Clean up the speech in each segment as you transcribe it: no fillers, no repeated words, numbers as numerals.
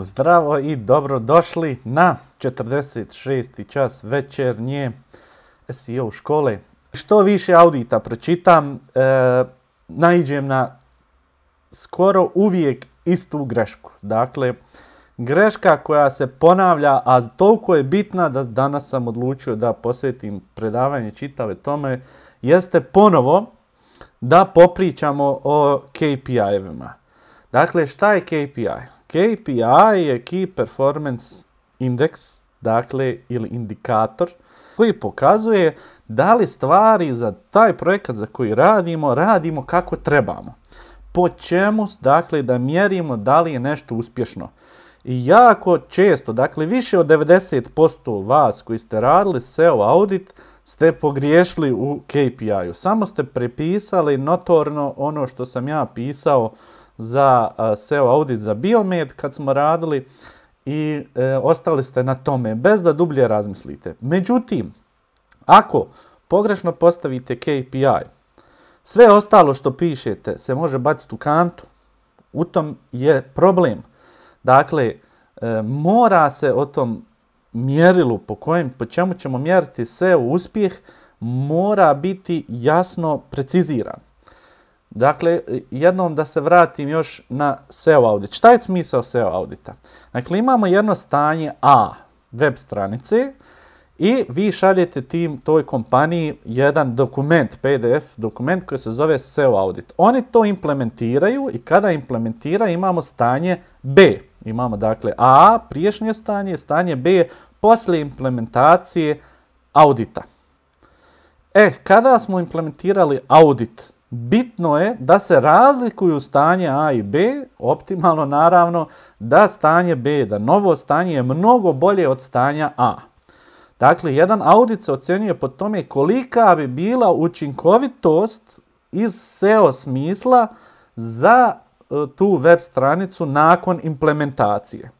Zdravo i dobrodošli na 46. čas večernje SEO škole. Što više audita pročitam, naiđem na skoro uvijek istu grešku. Dakle, greška koja se ponavlja, a toliko je bitna da danas sam odlučio da posvetim predavanje čitave tome, jeste ponovo da popričamo o KPI-evima. Dakle, šta je KPI? KPI je Key Performance Index, dakle, ili indikator, koji pokazuje da li stvari za taj projekat za koji radimo kako trebamo. Po čemu, dakle, da mjerimo da li je nešto uspješno. I jako često, dakle, više od 90% vas koji ste radili SEO audit, ste pogriješili u KPI-u. Samo ste prepisali notorno ono što sam ja pisao za SEO audit za Biomed kad smo radili i ostali ste na tome bez da dublje razmislite. Međutim, ako pogrešno postavite KPI, sve ostalo što pišete se može baciti u kantu. U tom je problem. Dakle, mora se o tom mjerilu po čemu ćemo mjeriti SEO uspjeh mora biti jasno preciziran. Dakle, jednom da se vratim još na SEO audit. Šta je smisao SEO audita? Dakle, imamo jedno stanje A web stranice i vi šaljete toj kompaniji jedan dokument, PDF dokument koji se zove SEO audit. Oni to implementiraju i kada implementiraju imamo stanje B. Imamo dakle A, prijašnje stanje, stanje B, poslije implementacije audita. Kada smo implementirali audit, bitno je da se razlikuju stanje A i B, optimalno naravno, da stanje B, da novo stanje je mnogo bolje od stanja A. Dakle, jedan audit se ocjenjuje po tome kolika bi bila učinkovitost iz SEO smisla za tu web stranicu nakon implementacije.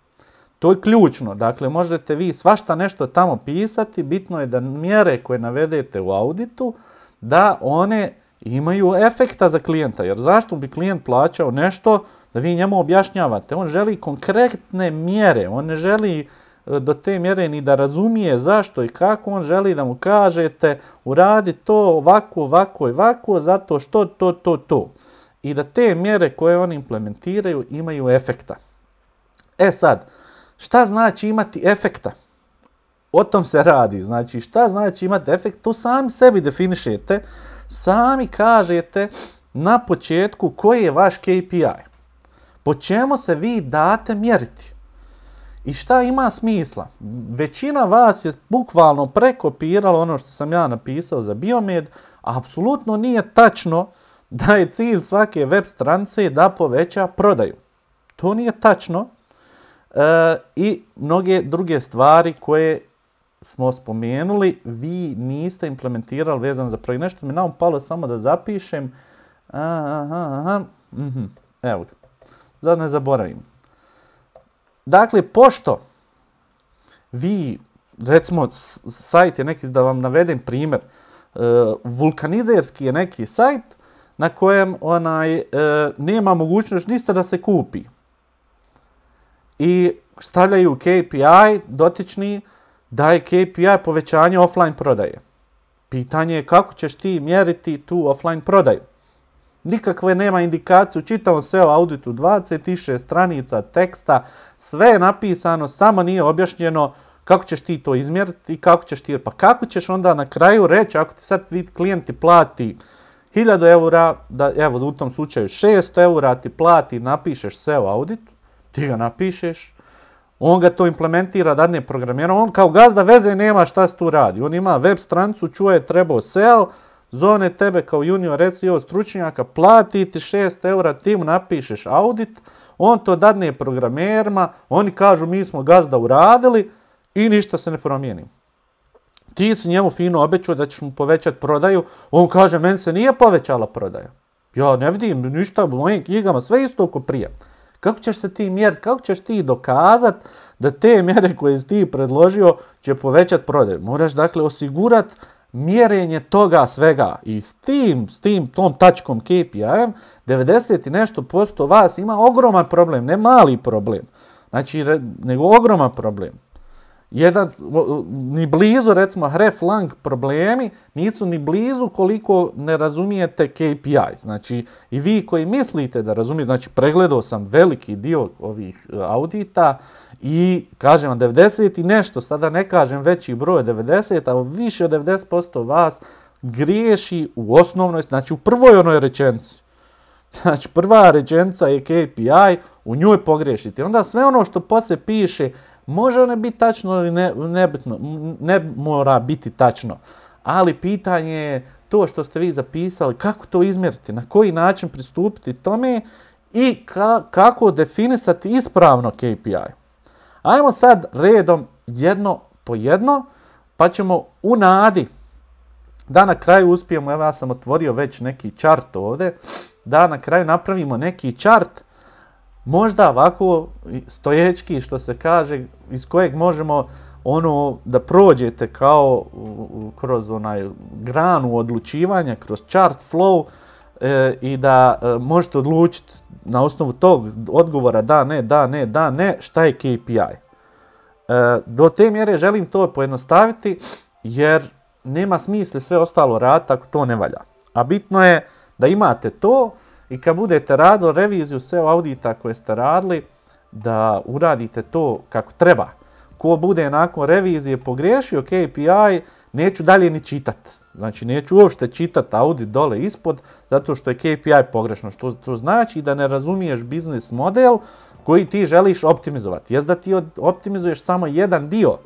To je ključno. Dakle, možete vi svašta nešto tamo pisati, bitno je da mjere koje navedete u auditu, da one imaju efekta za klijenta. Jer zašto bi klijent plaćao nešto da vi njemu objašnjavate? On želi konkretne mjere, on ne želi do te mjere ni da razumije zašto i kako, on želi da mu kažete uradi to ovako, zato što to. I da te mjere koje oni implementiraju imaju efekta. Sad, šta znači imati efekta? O tom se radi. Znači, šta znači imati efekt? To sami sebi definišete, sami kažete na početku koji je vaš KPI. Po čemu se vi date mjeriti? I šta ima smisla? Većina vas je bukvalno prekopirala ono što sam ja napisao za Biomed, a apsolutno nije tačno da je cilj svake web stranice da poveća prodaju. To nije tačno. I mnoge druge stvari koje smo spomenuli, vi niste implementirali vezano za projekt. Nešto mi je naupalo samo da zapišem. Evo ga. Sad ne zaboravim. Dakle, pošto vi, recimo, sajt je neki, da vam navedem primjer, vulkanizerski je neki sajt na kojem nema mogućnost ništa da se kupi. I stavljaju KPI dotični da je KPI povećanje offline prodaje. Pitanje je kako ćeš ti mjeriti tu offline prodaju. Nikakve nema indikaciju, čitavom SEO auditu 26 stranica teksta, sve je napisano, samo nije objašnjeno kako ćeš ti to izmjeriti i pa kako ćeš onda na kraju reći ako ti sad klijent ti plati 1000 eura, da evo u tom slučaju 600 eura ti plati, napišeš SEO audit, ti ga napišeš, on ga to implementira, dadne programira, on kao gazda veze nema šta se tu radi, on ima web stranicu, čuje trebao SEO, zove tebe kao junior SEO stručnjaka, plati ti 600 eura, ti mu napišeš audit, on to dadne programerima, oni kažu mi smo gazda uradili i ništa se ne promijeni. Ti si njemu fino obećao da ćeš mu povećati prodaju, on kaže meni se nije povećala prodaja. Ja ne vidim ništa u mojim knjigama, sve isto oko prije. Kako ćeš se ti mjeriti, kako ćeš ti dokazati da te mjere koje si ti predložio će povećati prodaju? Moraš dakle osigurati mjerenje toga svega i s tom tačkom KPI-em, 90 i nešto posto vas ima ogroman problem, ne mali problem, znači, nego ogroman problem. Ni blizu, recimo, href-lang problemi nisu ni blizu koliko ne razumijete KPI. Znači, i vi koji mislite da razumijete, znači, pregledao sam veliki dio ovih audita i kažem vam 90 i nešto, sada ne kažem veći broj 90, ali više od 90% vas griješi u osnovnoj, znači u prvoj onoj rečenici. Znači, prva rečenica je KPI, u njoj pogriješite. Onda sve ono što poslije piše može ne biti tačno ili ne mora biti tačno. Ali pitanje je to što ste vi zapisali, kako to izmjeriti, na koji način pristupiti tome i kako definisati ispravno KPI. Ajmo sad redom jedno po jedno, pa ćemo u nadi da na kraju uspijemo, evo ja sam otvorio već neki chart ovdje, da na kraju napravimo neki chart, možda ovako stoječki što se kaže, iz kojeg možemo da prođete kao kroz onaj granu odlučivanja, kroz chart flow i da možete odlučiti na osnovu tog odgovora da, ne, šta je KPI. Do te mjere želim to pojednostaviti jer nema smisla sve ostalo raditi ako to ne valja. A bitno je da imate to i kad budete radili reviziju SEO audita koje ste radili, da uradite to kako treba. Ko bude nakon revizije pogriješio KPI, neću dalje ni čitat. Znači neću uopšte čitat audit dole ispod, zato što je KPI pogrešno. Što to znači da ne razumiješ biznis model koji ti želiš optimizovati. Jest da ti optimizuješ samo jedan dio,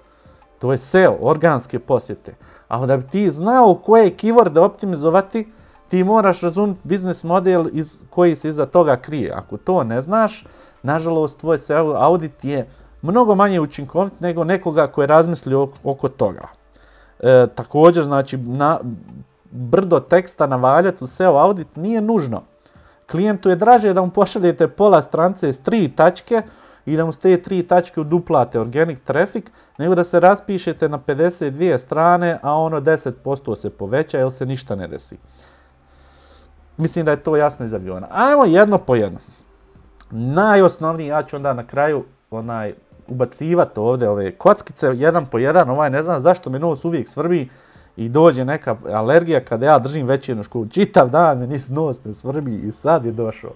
to je SEO, organske posjete. A da bi ti znao koje keyworde optimizovati, ti moraš razumjeti biznis model koji se iza toga krije. Ako to ne znaš, nažalost, tvoj SEO audit je mnogo manje učinkovit nego nekoga koji je razmislio oko toga. Također, znači, brdo teksta navaljati u SEO audit nije nužno. Klijentu je draže da mu pošaljete pola stranice s 3 tačke i da mu s te 3 tačke uduplate organic traffic, nego da se raspišete na 52 strane, a ono 10% se poveća jer se ništa ne desi. Mislim da je to jasno iz aviona. Ajmo jedno po jedno. Najosnovniji, ja ću onda na kraju ubacivati ovdje ove kockice, jedan po jedan, ne znam zašto me nos uvijek svrbi i dođe neka alergija kada ja držim večernju školu. Čitav dan me nos ne svrbi i sad je došao.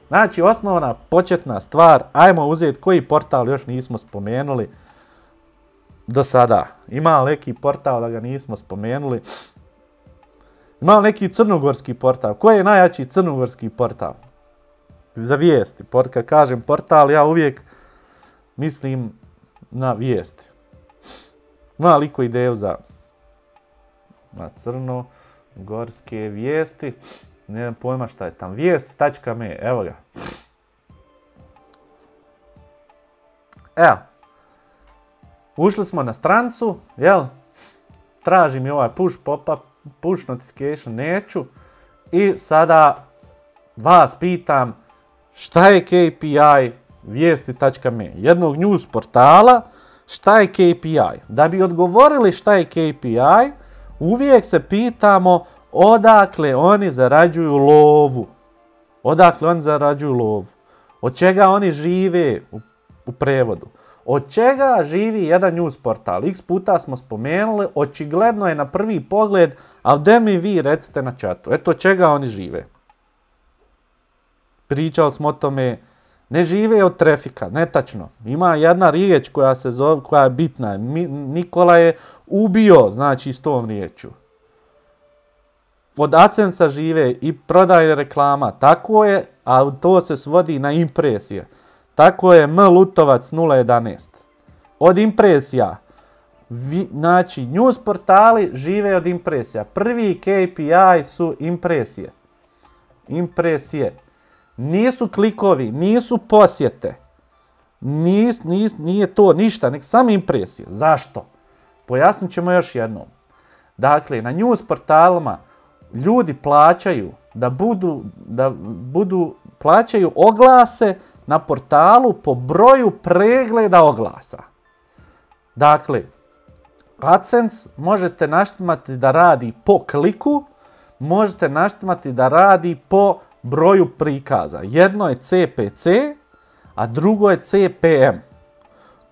Znači, osnovna početna stvar, ajmo uzeti koji portal još nismo spomenuli do sada. Ima li neki portal da ga nismo spomenuli? Ima li neki crnogorski portal? Koji je najjači crnogorski portal? Za vijesti. Kad kažem portal, ja uvijek mislim na vijesti. Ima li iko ideju za crnogorske vijesti? Nemam pojma šta je tam. Vijesti.me, evo ga. Evo. Ušli smo na stranicu, jel? Traži mi ovaj push pop-up, push notification, neću. I sada vas pitam šta je KPI vijesti.me, jednog news portala, šta je KPI. Da bi odgovorili šta je KPI, uvijek se pitamo odakle oni zarađuju lovu. Odakle oni zarađuju lovu. Od čega oni žive u prevodu. Od čega živi jedan news portal? X puta smo spomenuli, očigledno je na prvi pogled, ali da mi vi recite na chatu. Eto, od čega oni žive? Pričali smo o tome, ne žive od trafika, netačno. Ima jedna riječ koja se zove, koja je bitna. Nikola je ubio, znači, s tom riječu. Od AdSense-a žive i prodaje reklama, tako je, a to se svodi na impresije. Tako je Lutovac 011. Od impresija. Znači, news portali žive od impresija. Prvi KPI su impresije. Impresije. Nisu klikovi, nisu posjete. Nije to ništa, nek samo impresije. Zašto? Pojasnit ćemo još jednom. Dakle, na news portalima ljudi plaćaju plaćaju oglase na portalu po broju pregleda oglasa. Dakle, AdSense možete naštimati da radi po kliku, možete naštimati da radi po broju prikaza. Jedno je CPC, a drugo je CPM.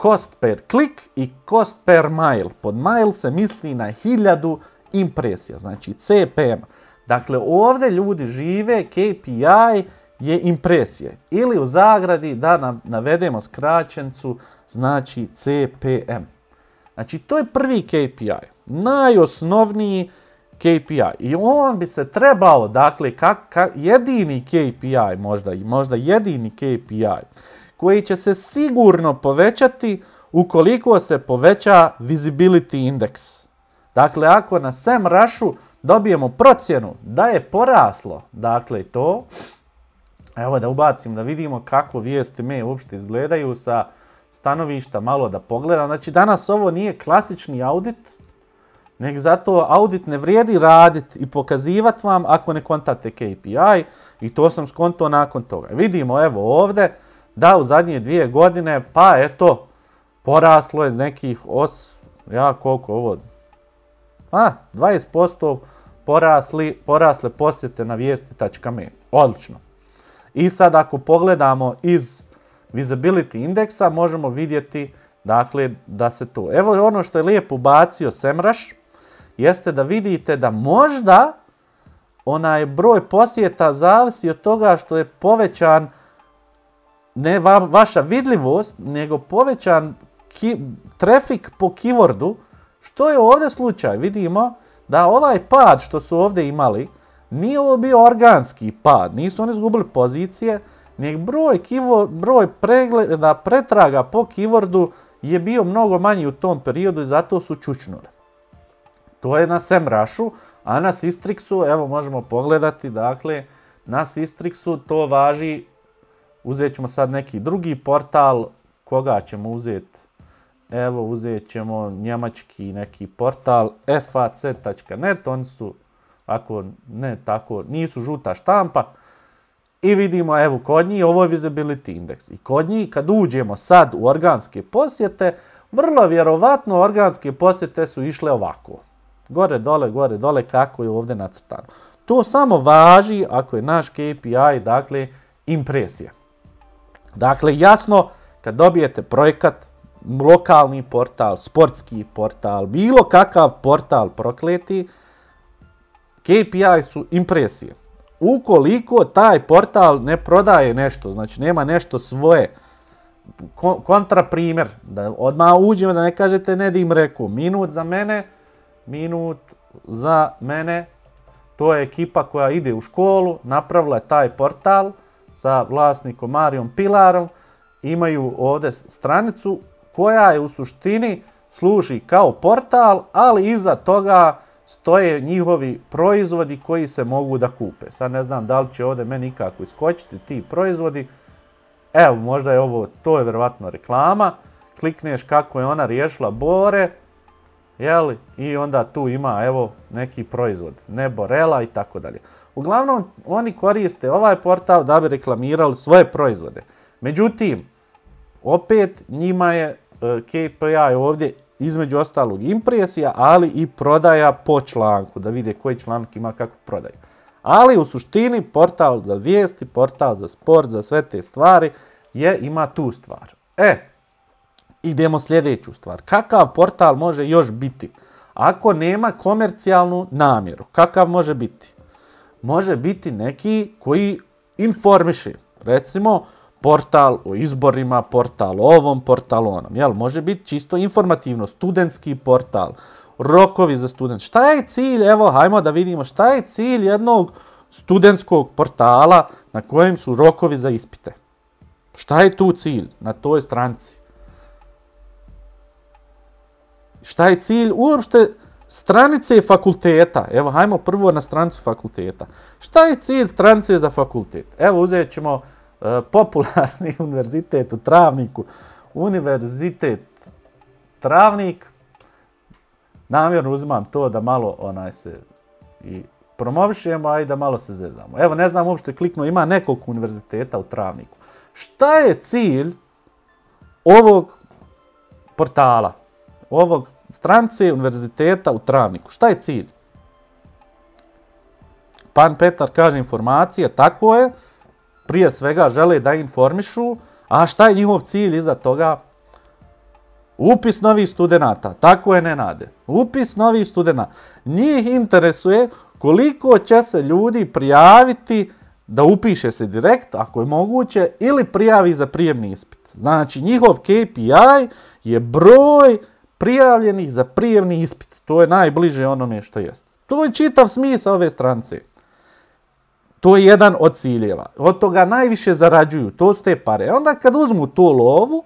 Cost per klik i cost per mile. Pod mile se misli na 1000 impresija, znači CPM. Dakle, ovdje ljudi žive, KPI je impresije. Ili u zagradi da navedemo skraćencu, znači CPM. Znači, to je prvi KPI, najosnovniji KPI. I on bi se trebao, dakle, jedini KPI, možda jedini KPI, koji će se sigurno povećati ukoliko se poveća visibility index. Dakle, ako na SEMrušu dobijemo procjenu da je poraslo, dakle, to, evo da ubacim da vidimo kako vijesti me uopšte izgledaju sa stanovišta, malo da pogledam. Znači, danas ovo nije klasični audit, nego zato audit ne vrijedi raditi i pokazivati vam ako ne kontate KPI, i to sam skontao nakon toga. Vidimo, evo ovdje, da u zadnje 2 godine, pa eto, poraslo je nekih, koliko ovo, 20% porasle posjete na vijesti.me. Odlično. I sad ako pogledamo iz visibility indeksa, možemo vidjeti, dakle, da se to. Evo ono što je lijepo ubacio SEMrush, jeste da vidite da možda onaj broj posjeta zavisi od toga što je povećan ne vaša vidljivost, nego povećan trafik po keywordu, što je ovdje slučaj. Vidimo da ovaj pad što su ovdje imali, nije ovo bio organski pad, nisu oni izgubili pozicije, nego broj pretraga po keywordu je bio mnogo manji u tom periodu i zato su čučnuli. To je na SEMrušu, a na Sistrixu, evo možemo pogledati, dakle, na Sistrixu to važi, uzet ćemo sad neki drugi portal, koga ćemo uzeti? Evo, uzet ćemo njemački neki portal fac.net, oni su, ako ne tako, nisu žuta štampa. I vidimo, evo, kod njih ovo je visibility index. I kod njih, kad uđemo sad u organske posjete, vrlo vjerovatno organske posjete su išle ovako. Gore, dole, kako je ovdje nacrtano. To samo važi ako je naš KPI, dakle, impresija. Dakle, jasno, kad dobijete projekat, lokalni portal, sportski portal, bilo kakav portal prokleti, KPI su impresije. Ukoliko taj portal ne prodaje nešto, znači nema nešto svoje, kontra primjer, da odmah uđemo da ne kažete Nedim rekao, minut za mene, to je ekipa koja ide u školu, napravila je taj portal sa vlasnikom Marijom Pilarom, imaju ovdje stranicu koja je u suštini služi kao portal, ali iza toga stoje njihovi proizvodi koji se mogu da kupe. Sad ne znam da li će ovdje meni ikako iskočiti ti proizvodi. Evo, možda je ovo, to je vjerovatno reklama. Klikneš kako je ona riješila bore, jeli, i onda tu ima, evo, neki proizvod, Neborela i tako dalje. Uglavnom, oni koriste ovaj portal da bi reklamirali svoje proizvode. Međutim, opet njima je KPI ovdje između ostalog impresija, ali i prodaja po članku, da vide koji članak ima kakvu prodaju. Ali u suštini portal za vijesti, portal za sport, za sve te stvari ima tu stvar. Idemo sljedeću stvar. Kakav portal može još biti? Ako nema komercijalnu namjeru, kakav može biti? Može biti neki koji informiše. Recimo, portal o izborima, portal o ovom, portal o onom. Jel? Može biti čisto informativno, studentski portal, rokovi za student. Šta je cilj? Evo, hajmo da vidimo šta je cilj jednog studentskog portala na kojem su rokovi za ispite. Šta je tu cilj na toj stranici? Šta je cilj uopšte stranice fakulteta? Evo, hajmo prvo na stranicu fakulteta. Šta je cilj stranice za fakultet? Evo, uzet ćemo popularni univerzitet u Travniku. Univerzitet Travnik. Namjerno uzimam to da malo se i promovišemo, a i da malo se zezamo. Evo, ne znam uopšte kliknuo, ima nekoliko univerziteta u Travniku. Šta je cilj ovog portala? Ovog stranice univerziteta u Travniku. Šta je cilj? Pan Petar kaže informacije, tako je, prije svega žele da informišu, a šta je njihov cilj iza toga? Upis novih studenata, tako je Nenade. Upis novih studenata. Njih interesuje koliko će se ljudi prijaviti da upiše se direkt, ako je moguće, ili prijavi za prijemni ispit. Znači, njihov KPI je broj prijavljenih za prijemni ispit. To je najbliže onome što jest. To je čitav smisao ove stranice. To je jedan od ciljeva. Od toga najviše zarađuju. To su te pare. Onda kad uzmu tu lovu,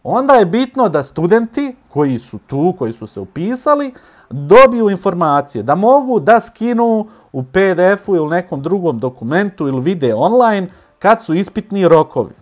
onda je bitno da studenti koji su tu, koji su se upisali, dobiju informacije, da mogu da skinu u PDF-u ili nekom drugom dokumentu ili vide online kad su ispitni rokovi.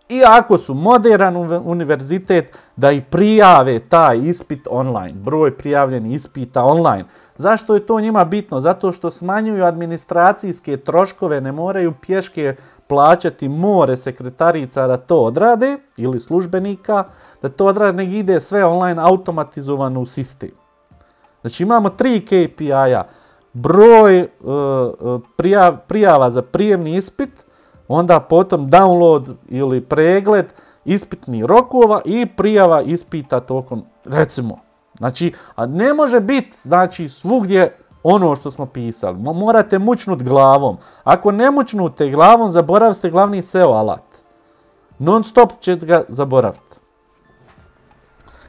I ako su moderan univerzitet, da i prijave taj ispit online, broj prijavljenih ispita online. Zašto je to njima bitno? Zato što smanjuju administracijske troškove, ne moraju pješke plaćati more sekretarica da to odrade, ili službenika, da to odrade, nego ide sve online automatizovano u sistem. Znači imamo 3 KPI-a, broj prijava za prijemni ispit, onda potom download ili pregled ispitnih rokova i prijava ispita tokom, recimo. Znači, a ne može biti, znači, svugdje ono što smo pisali. Morate mućnut glavom. Ako ne mućnute glavom, zaboravite glavni SEO alat. Non stop ćete ga zaboraviti.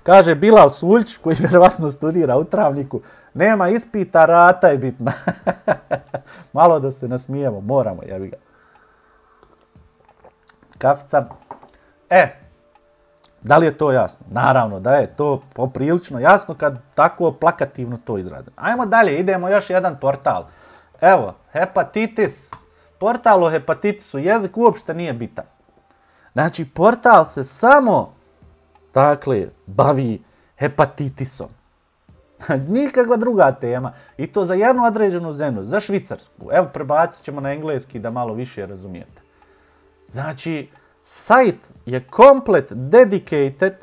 Kaže Bilal Suljić, koji vjerovatno studira u Travniku, nema ispita, rata je bitna. Malo da se nasmijemo, moramo, jebi ga. Kafica. Da li je to jasno? Naravno da je to poprilično jasno kad tako plakativno to izradim. Ajmo dalje, idemo još jedan portal. Evo, hepatitis. Portal o hepatitisu, jezik uopšte nije bitan. Znači, portal se samo, dakle, bavi hepatitisom. Nikakva druga tema. I to za jednu određenu zemlju, za Švicarsku. Evo, prebacit ćemo na engleski da malo više razumijete. Znači, sajt je komplet dedicated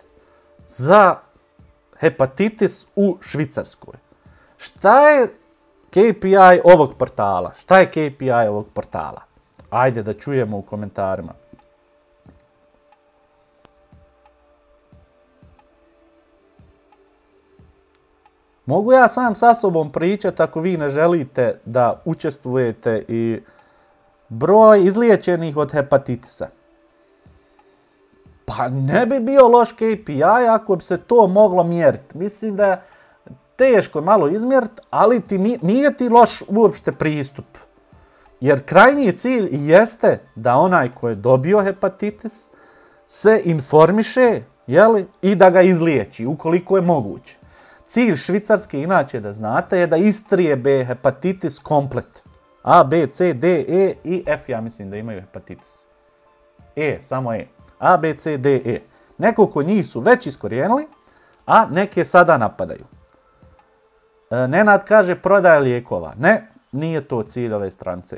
za hepatitis u Švicarskoj. Šta je KPI ovog portala? Šta je KPI ovog portala? Ajde da čujemo u komentarima. Mogu ja sam sa sobom pričati ako vi ne želite da učestvujete i broj izliječenih od hepatitisa. Pa ne bi bio loš KPI ako bi se to moglo mjeriti. Mislim da je teško malo izmjeriti, ali nije ti loš uopšte pristup. Jer krajnji cilj jeste da onaj koji je dobio hepatitis se informiše, jeli, i da ga izliječi ukoliko je moguće. Cilj Švicarske, inače da znate, je da istrijebe hepatitis komplet. A, B, C, D, E i F, ja mislim da imaju hepatitis. E, samo E. A, B, C, D, E. Nekoliko njih su već iskorijenili, a neke sada napadaju. Nenad kaže prodaja lijekova. Ne, nije to cilj ove stranice.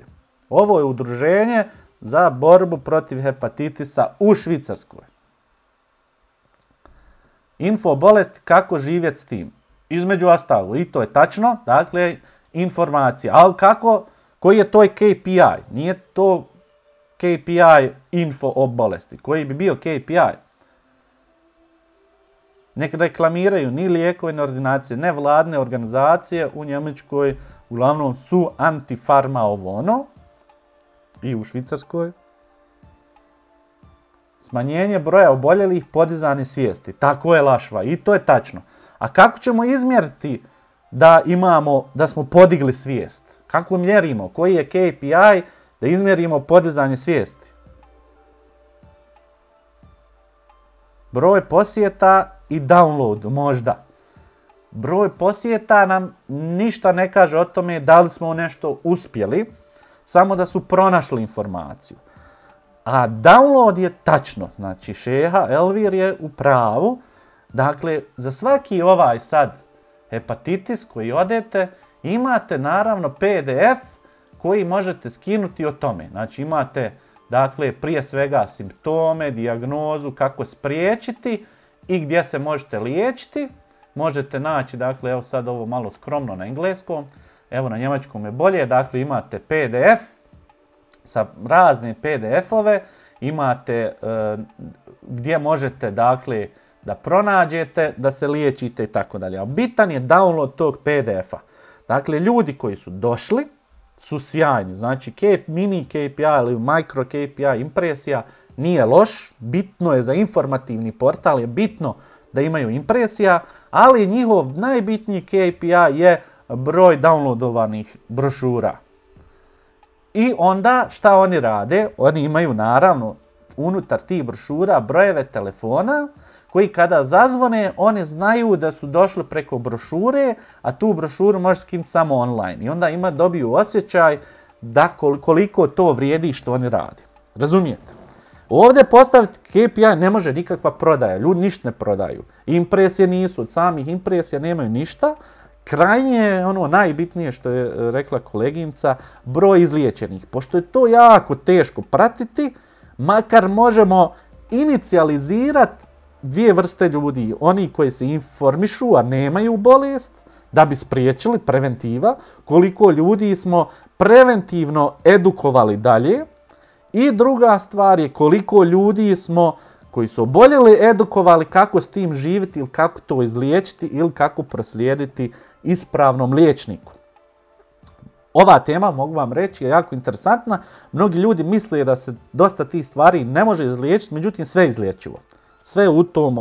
Ovo je udruženje za borbu protiv hepatitisa u Švicarskoj. Info bolesti, kako živjeti s tim. Između ostalog, i to je tačno, dakle, informacija. Ali kako, koji je to KPI? Nije to KPI info o bolesti. Koji bi bio KPI? Nek reklamiraju ni lijekove, ni ordinacije, ne vladne organizacije u Njemačkoj, uglavnom su antifarma ovo ono, i u Švicarskoj. Smanjenje broja oboljelih, podizanje svijesti. Tako je Lašva i to je tačno. A kako ćemo izmjeriti da smo podigli svijest? Kako mjerimo? Koji je KPI da izmjerimo podizanje svijesti? Broj posjeta i download možda. Broj posjeta nam ništa ne kaže o tome da li smo nešto uspjeli, samo da su pronašli informaciju. A download je tačno, znači Šeha Elvir je u pravu. Dakle, za svaki ovaj sad hepatitis koji odete, imate naravno PDF koji možete skinuti o tome. Znači imate, dakle, prije svega simptome, dijagnozu, kako spriječiti i gdje se možete liječiti. možete naći, dakle, evo sad ovo malo skromno na engleskom, evo na njemačkom je bolje, dakle imate PDF sa razne PDF-ove, imate gdje možete, dakle, da pronađete, da se liječite i tako dalje. A bitan je download tog PDF-a. Dakle, ljudi koji su došli su sjajni. Znači, mini KPI ili micro KPI impresija nije loš. Bitno je za informativni portal, je bitno da imaju impresija, ali njihov najbitniji KPI je broj downloadovanih brošura. I onda šta oni rade? Oni imaju naravno unutar tih brošura brojeve telefona koji kada zazvone, oni znaju da su došli preko brošure, a tu brošuru možeš skinuti samo online. I onda dobiju osjećaj da koliko to vrijedi što oni rade. Razumijete? Ovdje postaviti KPI ne može nikakva prodaja, ljudi ništa ne prodaju. Impresije nisu, od samih impresija nemaju ništa. Krajnje je ono najbitnije što je rekla koleginca, broj izliječenih. Pošto je to jako teško pratiti, makar možemo inicijalizirati dvije vrste ljudi. Oni koji se informišu, a nemaju bolest, da bi spriječili preventiva, koliko ljudi smo preventivno edukovali dalje. I druga stvar je koliko ljudi smo koji su oboljeli edukovali kako s tim živjeti ili kako to izliječiti ili kako proslijediti ispravnom liječniku. Ova tema, mogu vam reći, je jako interesantna. Mnogi ljudi misle da se dosta tih stvari ne može izliječiti, međutim sve je izliječivo. Sve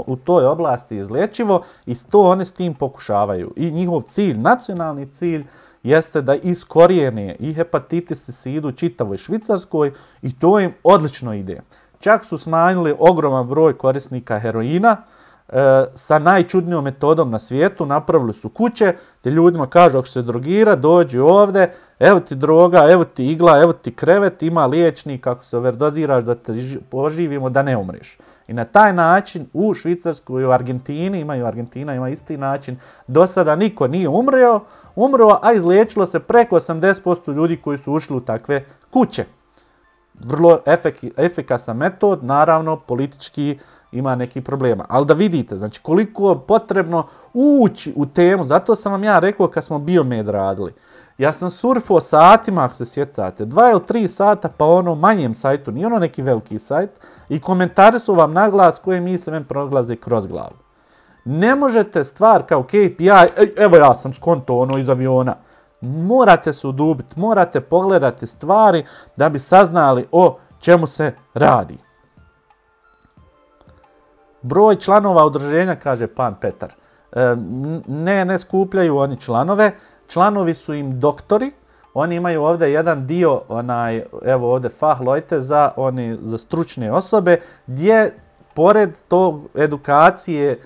u toj oblasti je izliječivo i to oni s tim pokušavaju. I njihov cilj, nacionalni cilj, jeste da iskorijene i hepatitis i sidu čitavoj Švicarskoj i to im odlično ide. Čak su smanjili ogroman broj korisnika heroina sa najčudnijom metodom na svijetu. Napravili su kuće gdje ljudima kažu ako se drogira, dođi ovdje, evo ti droga, evo ti igla, evo ti krevet, ima liječnik, ako se overdoziraš da te poživimo, da ne umreš. I na taj način u Švicarskoj i u Argentini, Argentina ima isti način, do sada niko nije umro, a izliječilo se preko 80% ljudi koji su ušli u takve kuće. Vrlo efikasan metod, naravno politički ima neki problema. Ali da vidite, znači koliko je potrebno ući u temu, zato sam vam ja rekao kad smo Biomed radili. Ja sam surfao satima, ako se sjetate, 2 ili 3 sata pa ono manjem sajtu, nije ono neki veliki sajt, i komentari su vam na glas koje misle men proglaze kroz glavu. Ne možete stvar kao KPI, evo ja sam skonto ono iz aviona. Morate se udubiti, morate pogledati stvari da bi saznali o čemu se radi. Broj članova udruženja, kaže pan Petar. Ne skupljaju oni članove. Članovi su im doktori. Oni imaju ovdje jedan dio, evo ovdje Fachleute za stručne osobe, gdje pored tog edukacije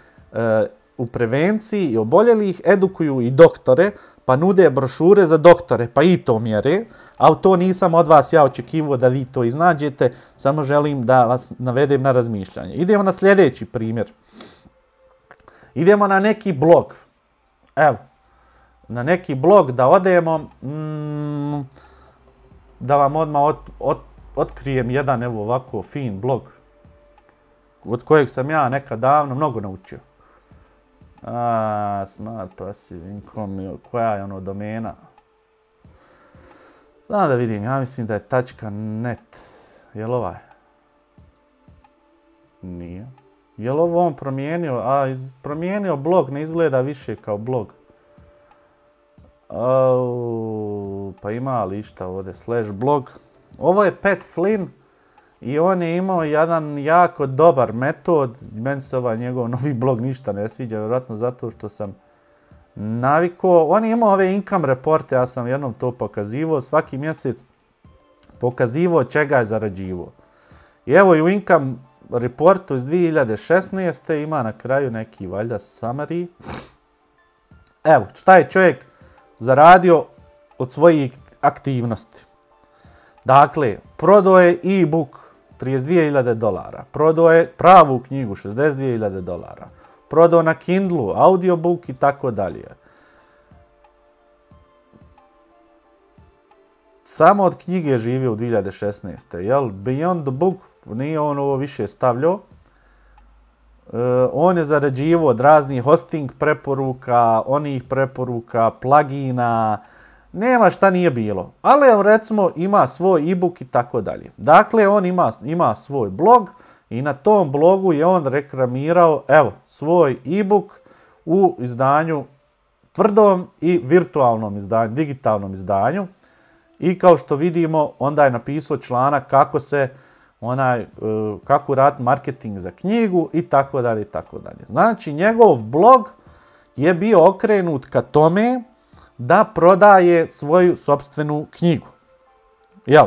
u prevenciji i oboljelih edukuju i doktore, pa nude brošure za doktore, pa i to mjere, ali to nisam od vas ja očekivao da vi to iznađete, samo želim da vas navedem na razmišljanje. Idemo na sljedeći primjer. Idemo na neki blog. Evo, na neki blog da odemo, da vam odmah otkrijem jedan evo ovako fin blog, od kojeg sam ja nekad davno mnogo naučio. Smart Passive Income, koja je ono domena? Znam da vidim, ja mislim da je .net. Je li ovaj? Nije. Je li ovo on promijenio? Promijenio blog, ne izgleda više kao blog. Pa ima li išta ovdje, /blog. Ovo je Pat Flynn. I on je imao jedan jako dobar metod, meni se ovaj njegov novi blog ništa ne sviđa, vjerojatno zato što sam navikao. On je imao ove income reporte, ja sam jednom to pokazivao, svaki mjesec pokazivao čega je zarađivao. I evo i u income reportu iz 2016. ima na kraju neki valjda summary. Evo, šta je čovjek zaradio od svojih aktivnosti. Dakle, prodao je e-book $32.000, prodao je pravu knjigu $62.000, prodao na Kindlu, audiobook i tako dalje. Samo od knjige je živio u 2016. Jel? Beyond the book nije on ovo više stavljao. on je zarađivao od raznih hosting preporuka, onih preporuka, plugina, nema šta nije bilo. Ali evo recimo ima svoj e-book i tako dalje. Dakle, on ima svoj blog i na tom blogu je on reklamirao evo svoj e-book u izdanju tvrdom i virtualnom izdanju, digitalnom izdanju. I kao što vidimo, onda je napisao članak kako raditi marketing za knjigu i tako dalje i tako dalje. Znači, njegov blog je bio okrenut ka tome da prodaje svoju sopstvenu knjigu. Jel?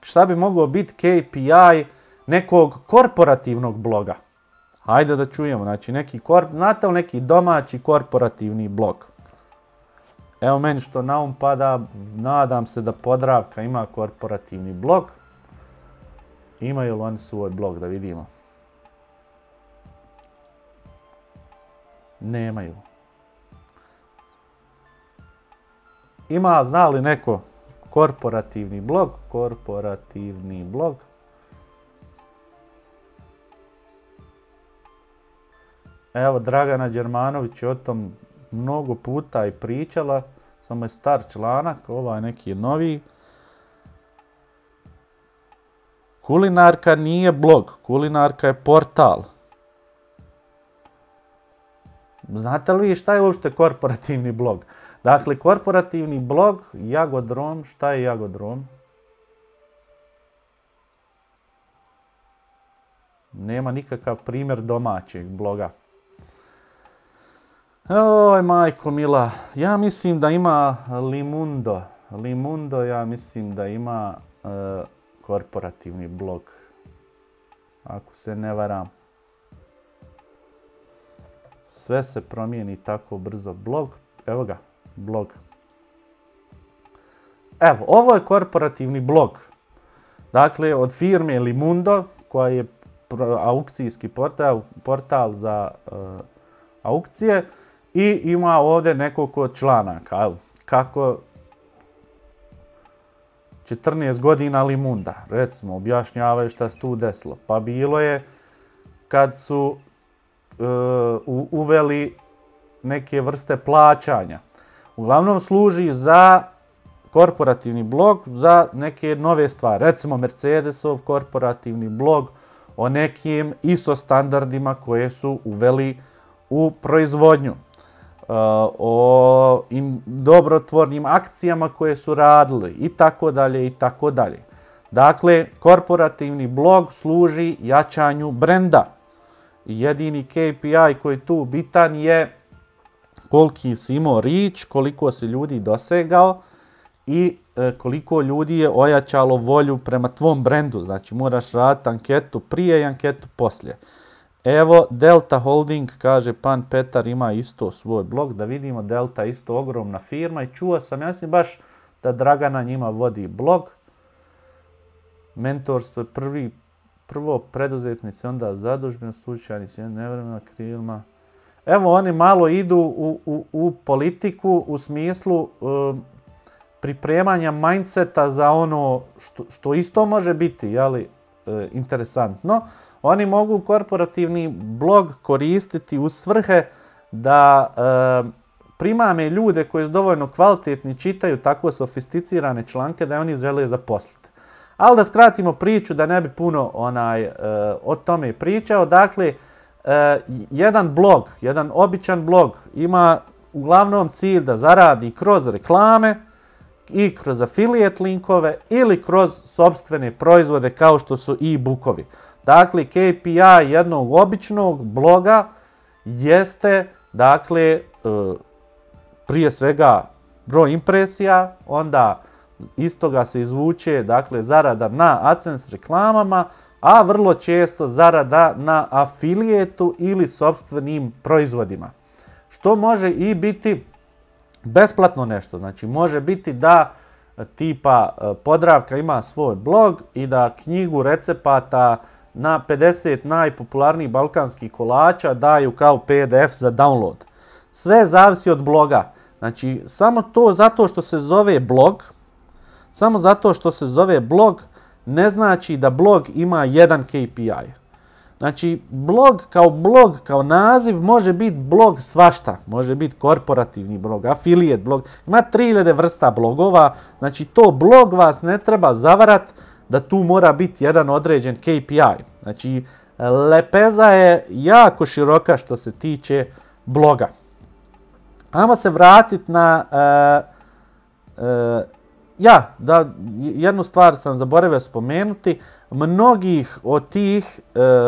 Šta bi mogao biti KPI nekog korporativnog bloga? Hajde da čujemo. Znači, znate li neki domaći korporativni blog? Evo meni što na um pada, nadam se da Podravka ima korporativni blog. Imaju li oni svoj blog, da vidimo? Nemaju. Zna li neko korporativni blog? Korporativni blog. Evo, Dragana Đermanović je o tom mnogo puta i pričala, samo je star članak, ovaj neki je novi. Kulinarka nije blog, kulinarka je portal. Znate li vi šta je uopšte korporativni blog? Dakle, korporativni blog, Jagodrom, šta je Jagodrom? Nema nikakav primjer domaćeg bloga. Oj, majko mila, ja mislim da ima Limundo. Limundo, ja mislim da ima korporativni blog. Ako se ne varam. Sve se promijeni tako brzo. Blog, evo ga, blog. Evo, ovo je korporativni blog. Dakle, od firme Limundo, koja je aukcijski portal za aukcije. I ima ovdje nekoliko članaka. Kako 14 godina Limunda, recimo, objašnjavaju šta se tu desilo. Pa bilo je kad su uveli neke vrste plaćanja. Uglavnom služi za korporativni blog za neke nove stvari. Recimo Mercedesov korporativni blog o nekim ISO standardima koje su uveli u proizvodnju. O dobrotvornim akcijama koje su radili i tako dalje i tako dalje. Dakle, korporativni blog služi jačanju brenda. Jedini KPI koji je tu bitan je koliki si imao reach, koliko si ljudi dosegao i koliko ljudi je ojačalo volju prema tvom brendu. Znači, moraš raditi anketu prije i anketu poslije. Evo, Delta Holding, kaže Pan Petar, ima isto svoj blog. Da vidimo, Delta isto ogromna firma i čuo sam, ja mislim baš da Dragana njima vodi blog. Mentorstvo je prvo preduzetnici, onda zadužbeno, slučajnici, nevremena krilima. Evo, oni malo idu u politiku u smislu pripremanja mindseta za ono što isto može biti, interesantno. Oni mogu korporativni blog koristiti u svrhe da primame ljude koji su dovoljno kvalitetni, čitaju tako sofisticirane članke da oni žele zaposliti. Ali da skratimo priču, da ne bi puno o tome pričao. Dakle, jedan blog, jedan običan blog ima uglavnom cilj da zaradi kroz reklame i kroz affiliate linkove ili kroz sopstvene proizvode kao što su e-bookovi. Dakle, KPI jednog običnog bloga jeste, dakle, prije svega broj impresija, onda iz toga se izvuče, dakle, zarada na AdSense reklamama, a vrlo često zarada na afilijetu ili sopstvenim proizvodima. Što može i biti besplatno nešto. Znači, može biti da tipa Podravka ima svoj blog i da knjigu recepata na 50 najpopularnijih balkanskih kolača daju kao PDF za download. Sve zavisi od bloga. Znači, samo to zato što se zove blog, ne znači da blog ima jedan KPI. Znači, blog kao naziv može biti blog svašta. Može biti korporativni blog, affiliate blog. Ima 3000 vrsta blogova. Znači, to blog vas ne treba zavarat da tu mora biti jedan određen KPI. Znači, lepeza je jako široka što se tiče bloga. Ajmo se vratiti na... jednu stvar sam zaboravio spomenuti. Mnogih od tih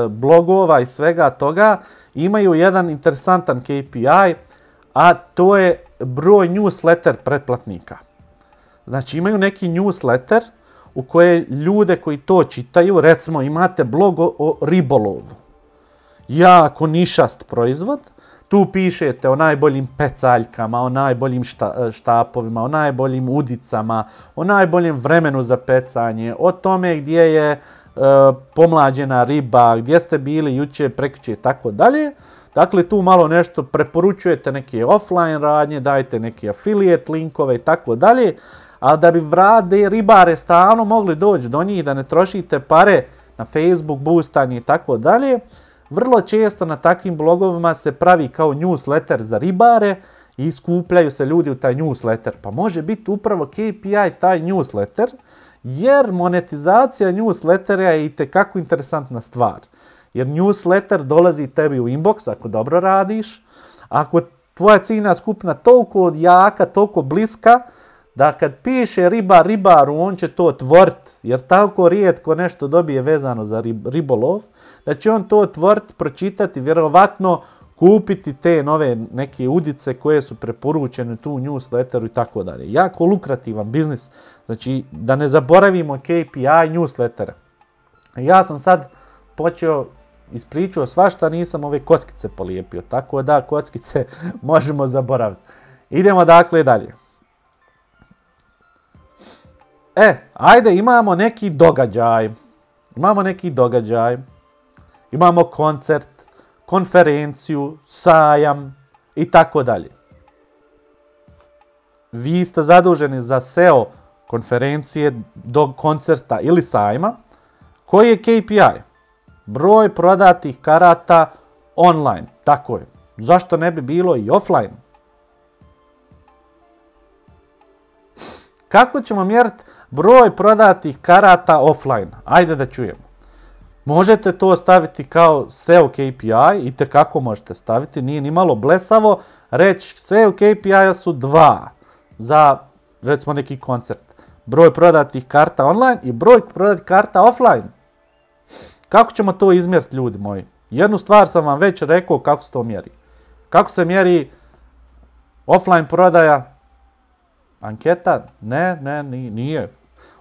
blogova i svega toga imaju jedan interesantan KPI, a to je broj newsletter pretplatnika. Znači imaju neki newsletter u koje ljude koji to čitaju, recimo imate blog o ribolovu. Jako nišast proizvod. Tu pišete o najboljim pecaljkama, o najboljim štapovima, o najboljim udicama, o najboljem vremenu za pecanje, o tome gdje je pomlađena riba, gdje ste bili jučer, prekjučer i tako dalje. Dakle, tu malo nešto preporučujete neke offline radnje, dajete neke affiliate linkove i tako dalje, ali da bi ribare stalno mogli doći do njih, da ne trošite pare na Facebook, boostanje i tako dalje, vrlo često na takvim blogovima se pravi kao newsletter za ribare i skupljaju se ljudi u taj newsletter. Pa može biti upravo KPI taj newsletter, jer monetizacija newslettera je itekako interesantna stvar. Jer newsletter dolazi tebi u inbox ako dobro radiš, ako tvoja ciljna skupina toliko jaka, toliko bliska, da kad piše ribar ribaru, on će to otvorit, jer tako rijetko nešto dobije vezano za ribolov, da će on to otvorit, pročitati, vjerovatno kupiti te nove neke udice koje su preporučene tu u newsletteru i tako dalje. Jako lukrativan biznis. Znači, da ne zaboravimo KPI newslettera. Ja sam sad ispričao svašta, nisam ove kockice polijepio, tako da kockice možemo zaboraviti. Idemo dakle dalje. Ajde, imamo neki događaj. Imamo koncert, konferenciju, sajam i tako dalje. Vi ste zaduženi za SEO konferencije, do koncerta ili sajma. Koji je KPI? Broj prodatih karata online. Tako je. Zašto ne bi bilo i offline? Kako ćemo mjeriti broj prodatih karata offline? Ajde da čujemo. Možete to staviti kao SEO KPI, itekako možete staviti, nije ni malo blesavo, reći SEO KPI-a su 2 za, recimo, neki koncert. Broj prodatih karta online i broj prodatih karta offline. Kako ćemo to izmjeriti, ljudi moji? Jednu stvar sam vam već rekao kako se to mjeri. Kako se mjeri offline prodaja? Anketa? Ne, nije.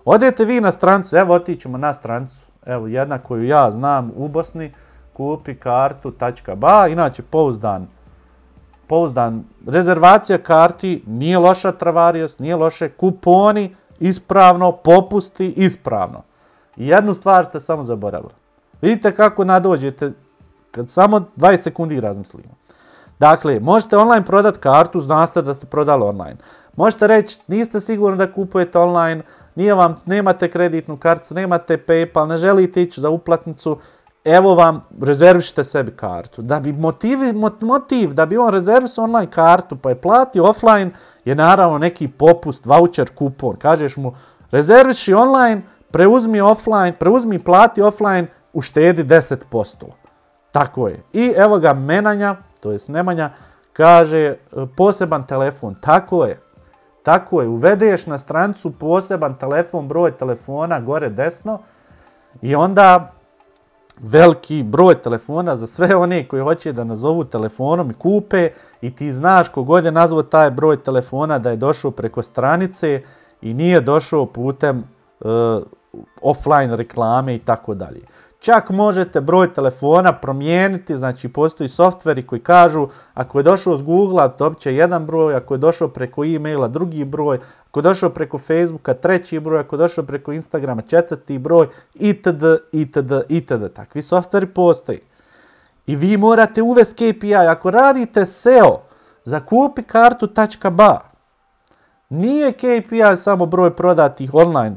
Odete vi na strancu, evo otićemo na strancu. Evo, jedna koju ja znam u Bosni, kupi kartu.ba, inače pouzdan rezervacija karti, nije loša travarijost, nije loše, kuponi, ispravno, popusti, ispravno. I jednu stvar ste samo zaboravili. Vidite kako nadođete, kad samo 20 sekundi razmislimo. Dakle, možete online prodati kartu, znate da ste prodali online. Možete reći, niste sigurni da kupujete online, nemate kreditnu karticu, nemate PayPal, ne želite ići za uplatnicu, evo vam, rezervišite sebi kartu. Da bi motiv, da bi on rezervisao online kartu pa je platio offline, je naravno neki popust, voucher, kupon. Kažeš mu, rezerviši online, preuzmi i plati offline, uštedi 10%. Tako je. I evo ga Nemanja, kaže poseban telefon. Tako je, uvedeš na strancu poseban telefon, broj telefona gore desno i onda veliki broj telefona za sve one koji hoće da nazovu telefonom i kupe i ti znaš kogod je nazvao taj broj telefona da je došao preko stranice i nije došao putem offline reklame i tako dalje. Čak možete broj telefona promijeniti, znači postoji softveri koji kažu ako je došao s Google-a dobit će jedan broj, ako je došao preko e-maila drugi broj, ako je došao preko Facebooka treći broj, ako je došao preko Instagrama četvrti broj, itd. Takvi softveri postoji. I vi morate uvesti KPI. Ako radite SEO za kupi kartu.ba, nije KPI samo broj prodatih online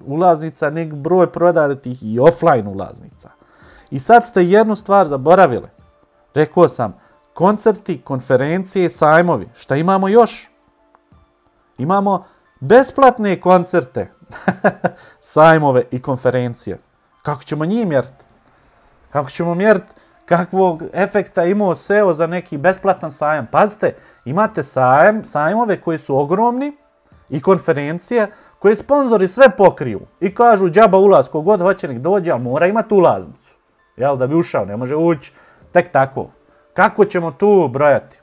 ulaznica, nego broj prodatih i offline ulaznica. I sad ste jednu stvar zaboravili. Rekao sam, koncerti, konferencije, sajmovi. Šta imamo još? Imamo besplatne koncerte, sajmove i konferencije. Kako ćemo njih mjeriti? Kako ćemo mjeriti kakvog efekta imao SEO za neki besplatan sajam? Pazite, imate sajmove koji su ogromni i konferencije koje sponzori sve pokriju i kažu džaba ulaz, kogod hoće nek dođe, ali mora imati ulaznicu. Jel, da bi ušao, ne može ući tek tako. Kako ćemo tu brojati?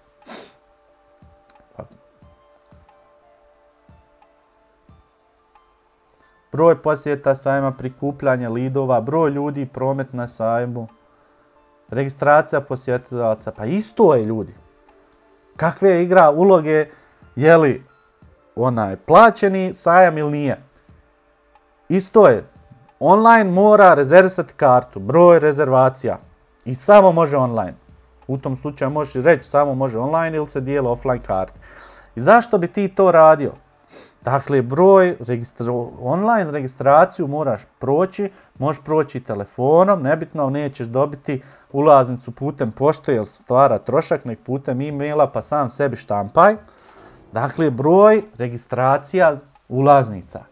Broj posjeta sajma, prikupljanje lidova, broj ljudi, promet na sajmu, registracija posjetilaca, pa isto je ljudi. Kakve igra uloge, je li onaj plaćeni sajam ili nije? Isto je, online mora rezervisati kartu, broj rezervacija i samo može online. U tom slučaju možeš reći samo može online ili se dijele offline karte. I zašto bi ti to radio? Dakle, online registraciju moraš proći, možeš proći telefonom, nebitno nećeš dobiti ulaznicu putem pošte jer stvara trošak, nek putem e-maila pa sam sebi štampaj. Dakle, broj registracija ulaznica.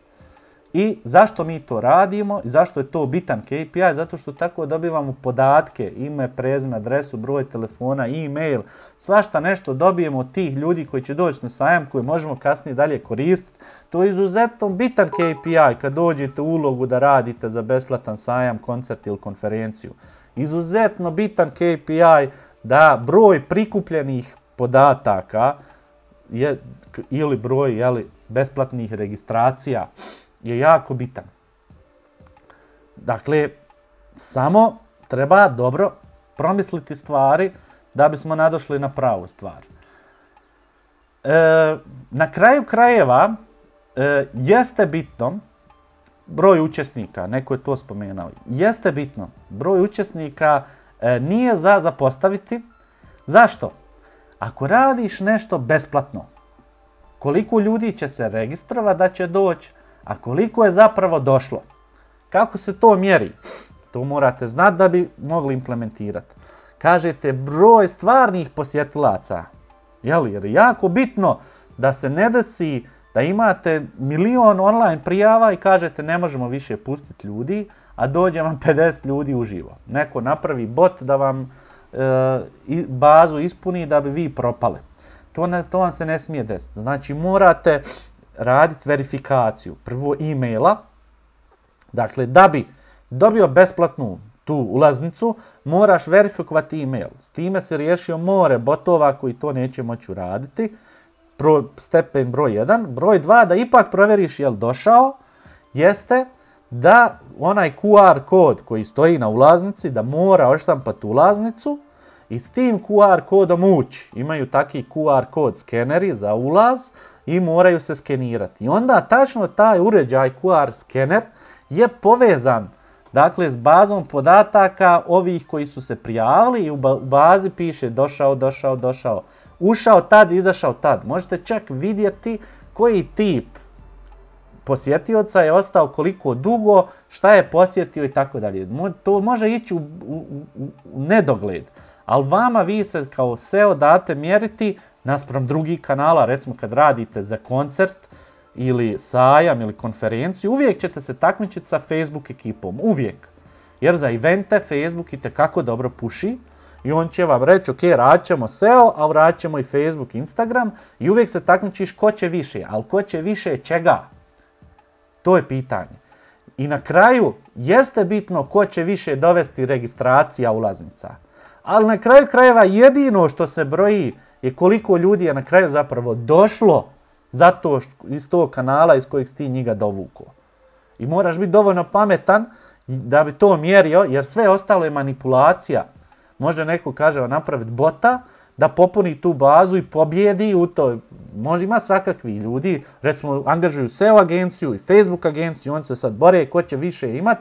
I zašto mi to radimo i zašto je to bitan KPI? Zato što tako dobivamo podatke, ime, prezime, adresu, broj telefona, e-mail, svašta nešto dobijemo od tih ljudi koji će doći na sajam koji možemo kasnije dalje koristiti. To je izuzetno bitan KPI kad dođete u ulogu da radite za besplatan sajam, koncert ili konferenciju. Izuzetno bitan KPI da broj prikupljenih podataka ili broj besplatnih registracija je jako bitan. Dakle, samo treba dobro promisliti stvari da bismo nadošli na pravu stvar. Na kraju krajeva jeste bitno broj učesnika, neko je to spomenuo, jeste bitno broj učesnika nije za zapostaviti. Zašto? Ako radiš nešto besplatno, koliko ljudi će se registrovati da će doći, a koliko je zapravo došlo? Kako se to mjeri? To morate znati da bi mogli implementirati. Kažete broj stvarnih posjetilaca. Jer je jako bitno da se ne desi da imate milion online prijava i kažete ne možemo više pustiti ljudi, a dođe vam 50 ljudi uživo. Neko napravi bot da vam bazu ispuni da bi vi propali. To vam se ne smije desiti. Znači morate raditi verifikaciju. Prvo e-maila. Dakle, da bi dobio besplatnu tu ulaznicu, moraš verifikovati e-mail. S time se riješio more botova koji to neće moći uraditi. Stepen broj 1. Broj 2, da ipak provjeriš je li došao, jeste da onaj QR kod koji stoji na ulaznici, da mora odštampati ulaznicu i s tim QR kodom ući. Imaju taki QR kod skeneri za ulaz i moraju se skenirati. I onda tačno taj uređaj QR skener je povezan, dakle, s bazom podataka ovih koji su se prijavili i u bazi piše došao, ušao tad, izašao tad. Možete čak vidjeti koji tip posjetioca je ostao koliko dugo, šta je posjetio i tako dalje. To može ići u nedogled, ali vama vi se kao SEO date mjeriti naspram drugih kanala, recimo kad radite za koncert ili sajam ili konferenciju, uvijek ćete se takmičiti sa Facebook ekipom, uvijek. Jer za evente Facebook itekako dobro puši i on će vam reći, ok, radit ćemo SEO, a radit ćemo i Facebook, Instagram i uvijek se takmičiš ko će više, ali ko će više čega? To je pitanje. I na kraju jeste bitno ko će više dovesti registracija ulaznica. Ali na kraju krajeva jedino što se broji je koliko ljudi je na kraju zapravo došlo zato iz tog kanala iz kojeg si ti njega dovukao. I moraš biti dovoljno pametan da bi to mjerio, jer sve ostalo je manipulacija. Može neko, kaže, napraviti bota da popuni tu bazu i pobjedi u to. Može, ima svakakvi ljudi, recimo angažuju SEO agenciju i Facebook agenciju, oni se sad bore ko će više imat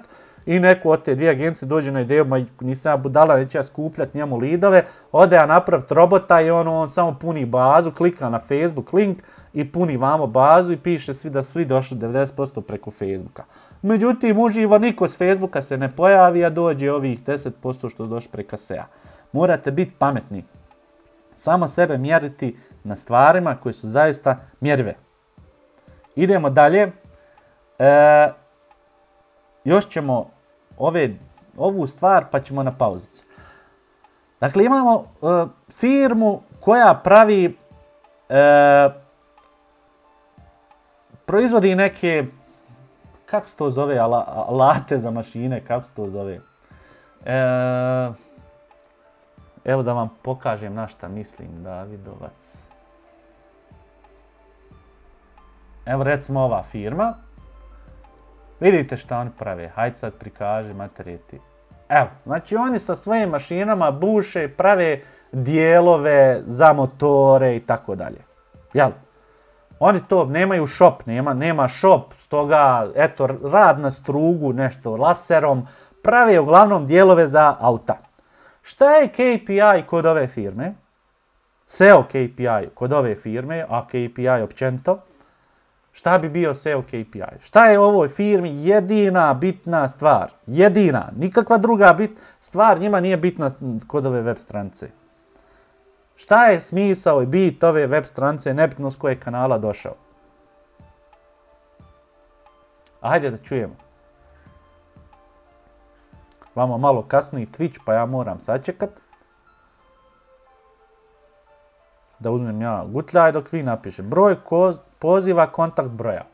i neko od te dvije agencije dođe na ideju, ma nisam ja budala, neće ja skupljati njemu lidove, ode ja napraviti robota i on samo puni bazu, klika na Facebook link i puni vamo bazu i piše svi da su svi došli 90% preko Facebooka. Međutim, uživo niko s Facebooka se ne pojavi, a dođe ovih 10% što su došli preko SEA. Morate biti pametni. Samo sebe mjeriti na stvarima koje su zaista mjerive. Idemo dalje. Još ćemo ovu stvar pa ćemo na pauzicu. Dakle, imamo firmu koja pravi, proizvodi neke, kako se to zove, alate za mašine, kako se to zove. Evo da vam pokažem na šta mislim, Davidovac. Evo recimo ova firma. Vidite šta oni prave, hajde sad prikaži materijeti. Evo, znači oni sa svojim mašinama buše, prave dijelove za motore i tako dalje. Jel? Oni to nemaju shop, nema shop, stoga eto rad na strugu, nešto laserom, prave uglavnom dijelove za auta. Šta je KPI kod ove firme? SEO KPI kod ove firme, a KPI općenito. Šta bi bio SEO KPI? Šta je u ovoj firmi jedina bitna stvar? Jedina, nikakva druga stvar njima nije bitna kod ove web stranice. Šta je smisao i bit ove web stranice, nebitno s kojeg kanala došao? Ajde da čujemo. Vamo malo kasniji Twitch, pa ja moram sačekat. Da uzmem ja gutljaj dok vi napiše. Broj poziva, kontakt broja.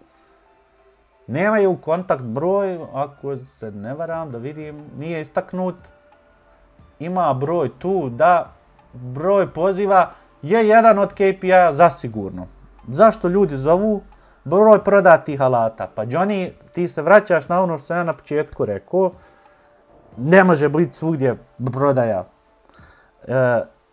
Nemaju kontakt broj, ako se ne varam, da vidim, nije istaknut. Ima broj tu, da, broj poziva je jedan od KPI-a zasigurno. Zašto ljudi zovu? Broj prodatih alata. Pa Johnny, ti se vraćaš na ono što sam ja na početku rekao. Ne može biti svugdje prodaja.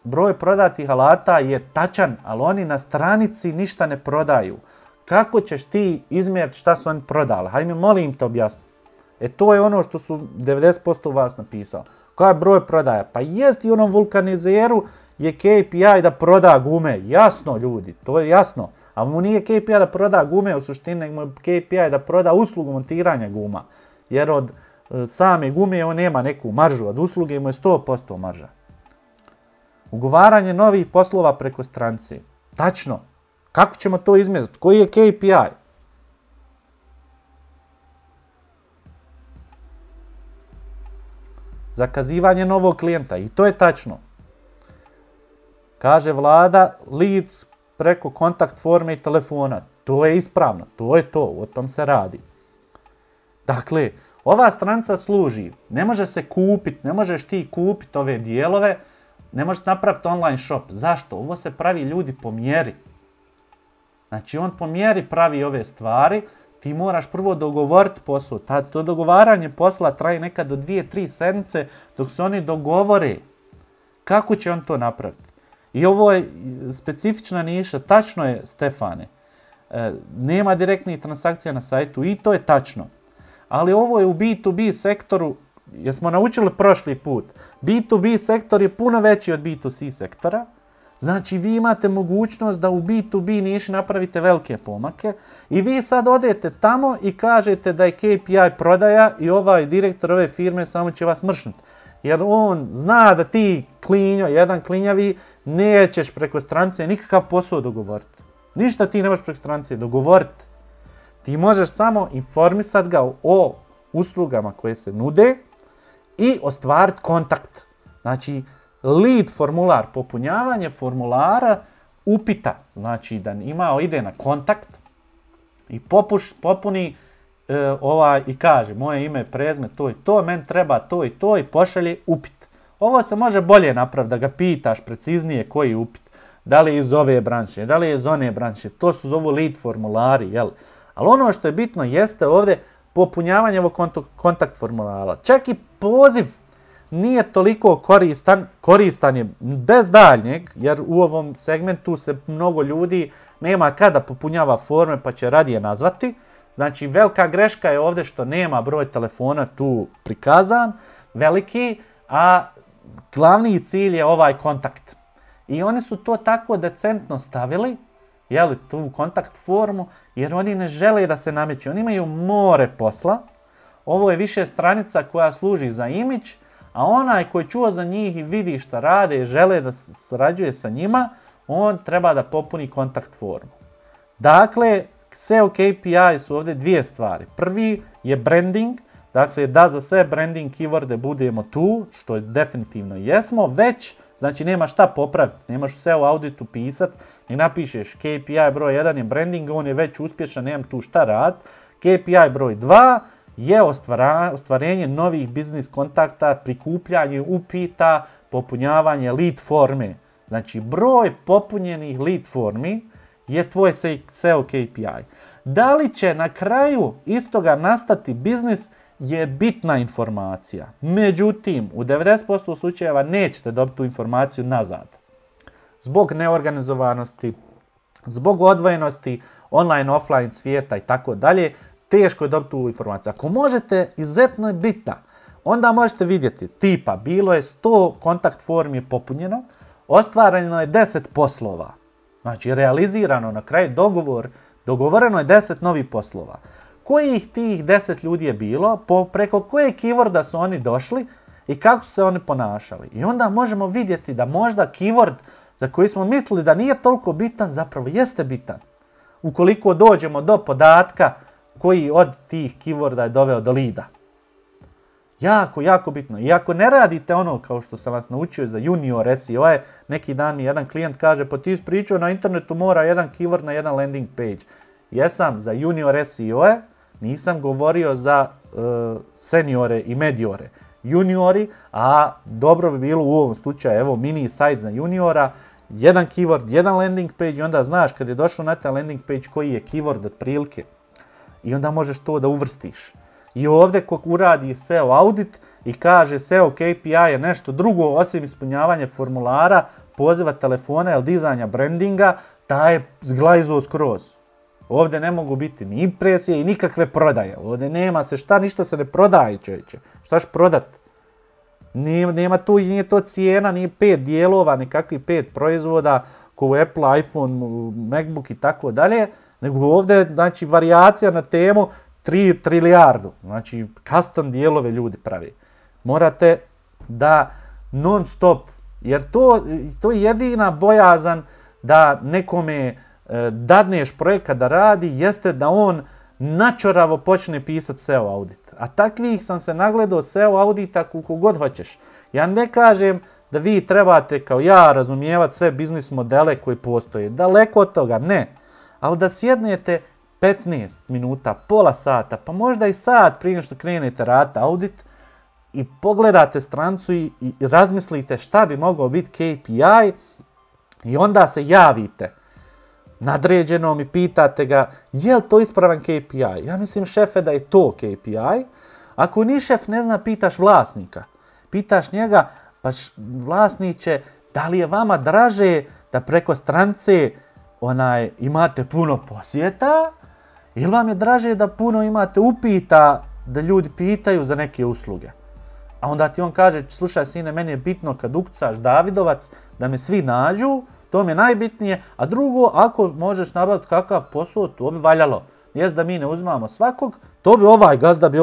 Broj prodatih alata je tačan, ali oni na stranici ništa ne prodaju. Kako ćeš ti izmjeriti šta su oni prodali? Hajde mi molim te objasni. To je ono što su 90% vas napisali. Koja je broj prodaja? Pa jest i onom vulkanizeru je KPI da proda gume. Jasno ljudi, to je jasno. Ali mu nije KPI da proda gume u suštini, nego mu je KPI da proda uslugu montiranja guma. Jer od same gume on nema neku maržu, od usluge mu je 100% marža. Ugovaranje novih poslova preko stranice. Tačno. Kako ćemo to izmjeriti? Koji je KPI? Zakazivanje novog klijenta. I to je tačno. Kaže Vlada, leads preko kontakt forme i telefona. To je ispravno. To je to. O tom se radi. Dakle, ova stranica služi. Ne može se kupiti. Ne možeš ti kupiti ove dijelove. Ne možeš napraviti online shop. Zašto? Ovo se pravi ljudi po mjeri. Znači on po mjeri pravi ove stvari. Ti moraš prvo dogovoriti posao. To dogovaranje posla traje nekad do 2-3 sedmice dok se oni dogovore. Kako će on to napraviti? I ovo je specifična niša. Tačno je, Stefane. Nema direktnih transakcija na sajtu i to je tačno. Ali ovo je u B2B sektoru. Jesmo naučili prošli put. B2B sektor je puno veći od B2C sektora. Znači vi imate mogućnost da u B2B niši napravite velike pomake i vi sad odete tamo i kažete da je KPI prodaja i ovaj direktor ove firme samo će vas mršnuti. Jer on zna da ti jedan klinjavi nećeš preko stranice nikakav posao dogovoriti. Ništa ti ne možeš preko stranice dogovoriti. Ti možeš samo informisati ga o uslugama koje se nude i ostvariti kontakt. Znači, lead formular, popunjavanje formulara upita. Znači, da ide na kontakt i popuni i kaže moje ime, prezime, to i to, meni treba to i to i pošalje upit. Ovo se može bolje napraviti, da ga pitaš preciznije koji upit. Da li je iz ove branše, da li je iz one branše, to su zovu lead formulari, jel? Ali ono što je bitno jeste ovdje popunjavanje ovog kontakt formulara. Čak i poziv nije toliko koristan je bez daljnjeg, jer u ovom segmentu se mnogo ljudi nema kada popunjava forme pa će radije nazvati. Znači, velika greška je ovdje što nema broj telefona tu prikazan, veliki, a glavni cilj je ovaj kontakt. I oni su to tako decentno stavili, tu kontakt formu, jer oni ne žele da se nameću. Oni imaju more posla. Ovo je više stranica koja služi za imidž, a onaj koji čuo za njih i vidi šta rade i žele da sarađuje sa njima, on treba da popuni kontakt formu. Dakle, SEO KPI su ovdje dvije stvari. Prvi je branding, dakle da za sve branding keyworde budemo tu, što definitivno jesmo, već, znači nema šta popraviti, nemaš u SEO auditu pisat, i napišeš KPI broj 1 je branding, on je već uspješan, nemam tu šta rad. KPI broj 2 je ostvarenje novih biznis kontakta, prikupljanje upita, popunjavanje lead forme. Znači broj popunjenih lead formi je tvoj SEO KPI. Da li će na kraju istoga nastati biznis je bitna informacija. Međutim, u 90% slučajeva nećete dobiti tu informaciju nazad. Zbog neorganizovanosti, zbog odvojenosti online, offline svijeta i tako dalje, teško je dobiti tu informaciju. Ako možete, izuzetno je bitna. Onda možete vidjeti, tipa, bilo je 100 kontakt formi popunjeno, ostvareno je 10 poslova. Znači, realizirano na kraju dogovoreno je 10 novih poslova. Kojih tih 10 ljudi je bilo, preko koje keyworda su oni došli i kako su se oni ponašali. I onda možemo vidjeti da možda keyword za koji smo mislili da nije toliko bitan, zapravo jeste bitan. Ukoliko dođemo do podatka koji od tih keyworda je doveo do leada. Jako, jako bitno. I ako ne radite ono kao što sam vas naučio za junior SEO, neki dan mi jedan klijent kaže, pa ti ispričao na internetu mora jedan keyword na jedan landing page. Jesam za junior SEO, nisam govorio za seniore i mediore. Juniori, a dobro bi bilo u ovom slučaju, evo mini sajt za juniora, jedan keyword, jedan landing page i onda znaš kad je došao na taj landing page koji je keyword otprilike. I onda možeš to da uvrstiš. I ovdje ko uradi SEO audit i kaže SEO KPI je nešto drugo osim ispunjavanja formulara, poziva telefona ili dizanja brandinga, taj je zglajzuo skroz. Ovdje ne mogu biti ni impresije i nikakve prodaje. Ovdje nema se šta, ništa se ne prodaje, čovječe. Šta ćeš prodat? Nema tu, nije to cijena, nije 5 dijelova, nikakvih 5 proizvoda, kao Apple, iPhone, MacBook i tako dalje, nego ovdje, znači, varijacija na temu 3 trilijardu. Znači, custom dijelove ljudi pravi. Morate da non stop, jer to je jedina bojazan da nekome dadneš projekat da radi, jeste da on načoravo počne pisati SEO audit. A takvih sam se nagledao SEO audita koliko god hoćeš. Ja ne kažem da vi trebate kao ja razumijevati sve biznis modele koji postoje. Daleko od toga, ne. Ali da sjednete 15 minuta, pola sata, pa možda i sat prije što krenete raditi audit i pogledate stranicu i razmislite šta bi mogao biti KPI i onda se javite nadređenom i pitate ga je li to ispravan KPI. Ja mislim šefe da je to KPI. Ako ni šef ne zna, pitaš vlasnika. Pitaš njega, pa vlasniče, da li je vama draže da preko stranice imate puno posjeta ili vam je draže da puno imate upita da ljudi pitaju za neke usluge. A onda ti on kaže, slušaj sine, meni je bitno kad ukucaš Davidovac da me svi nađu, to mi je najbitnije, a drugo, ako možeš nabaviti kakav posao, to bi valjalo. Jest da mi ne uzimamo svakog, to bi ovaj gazda bi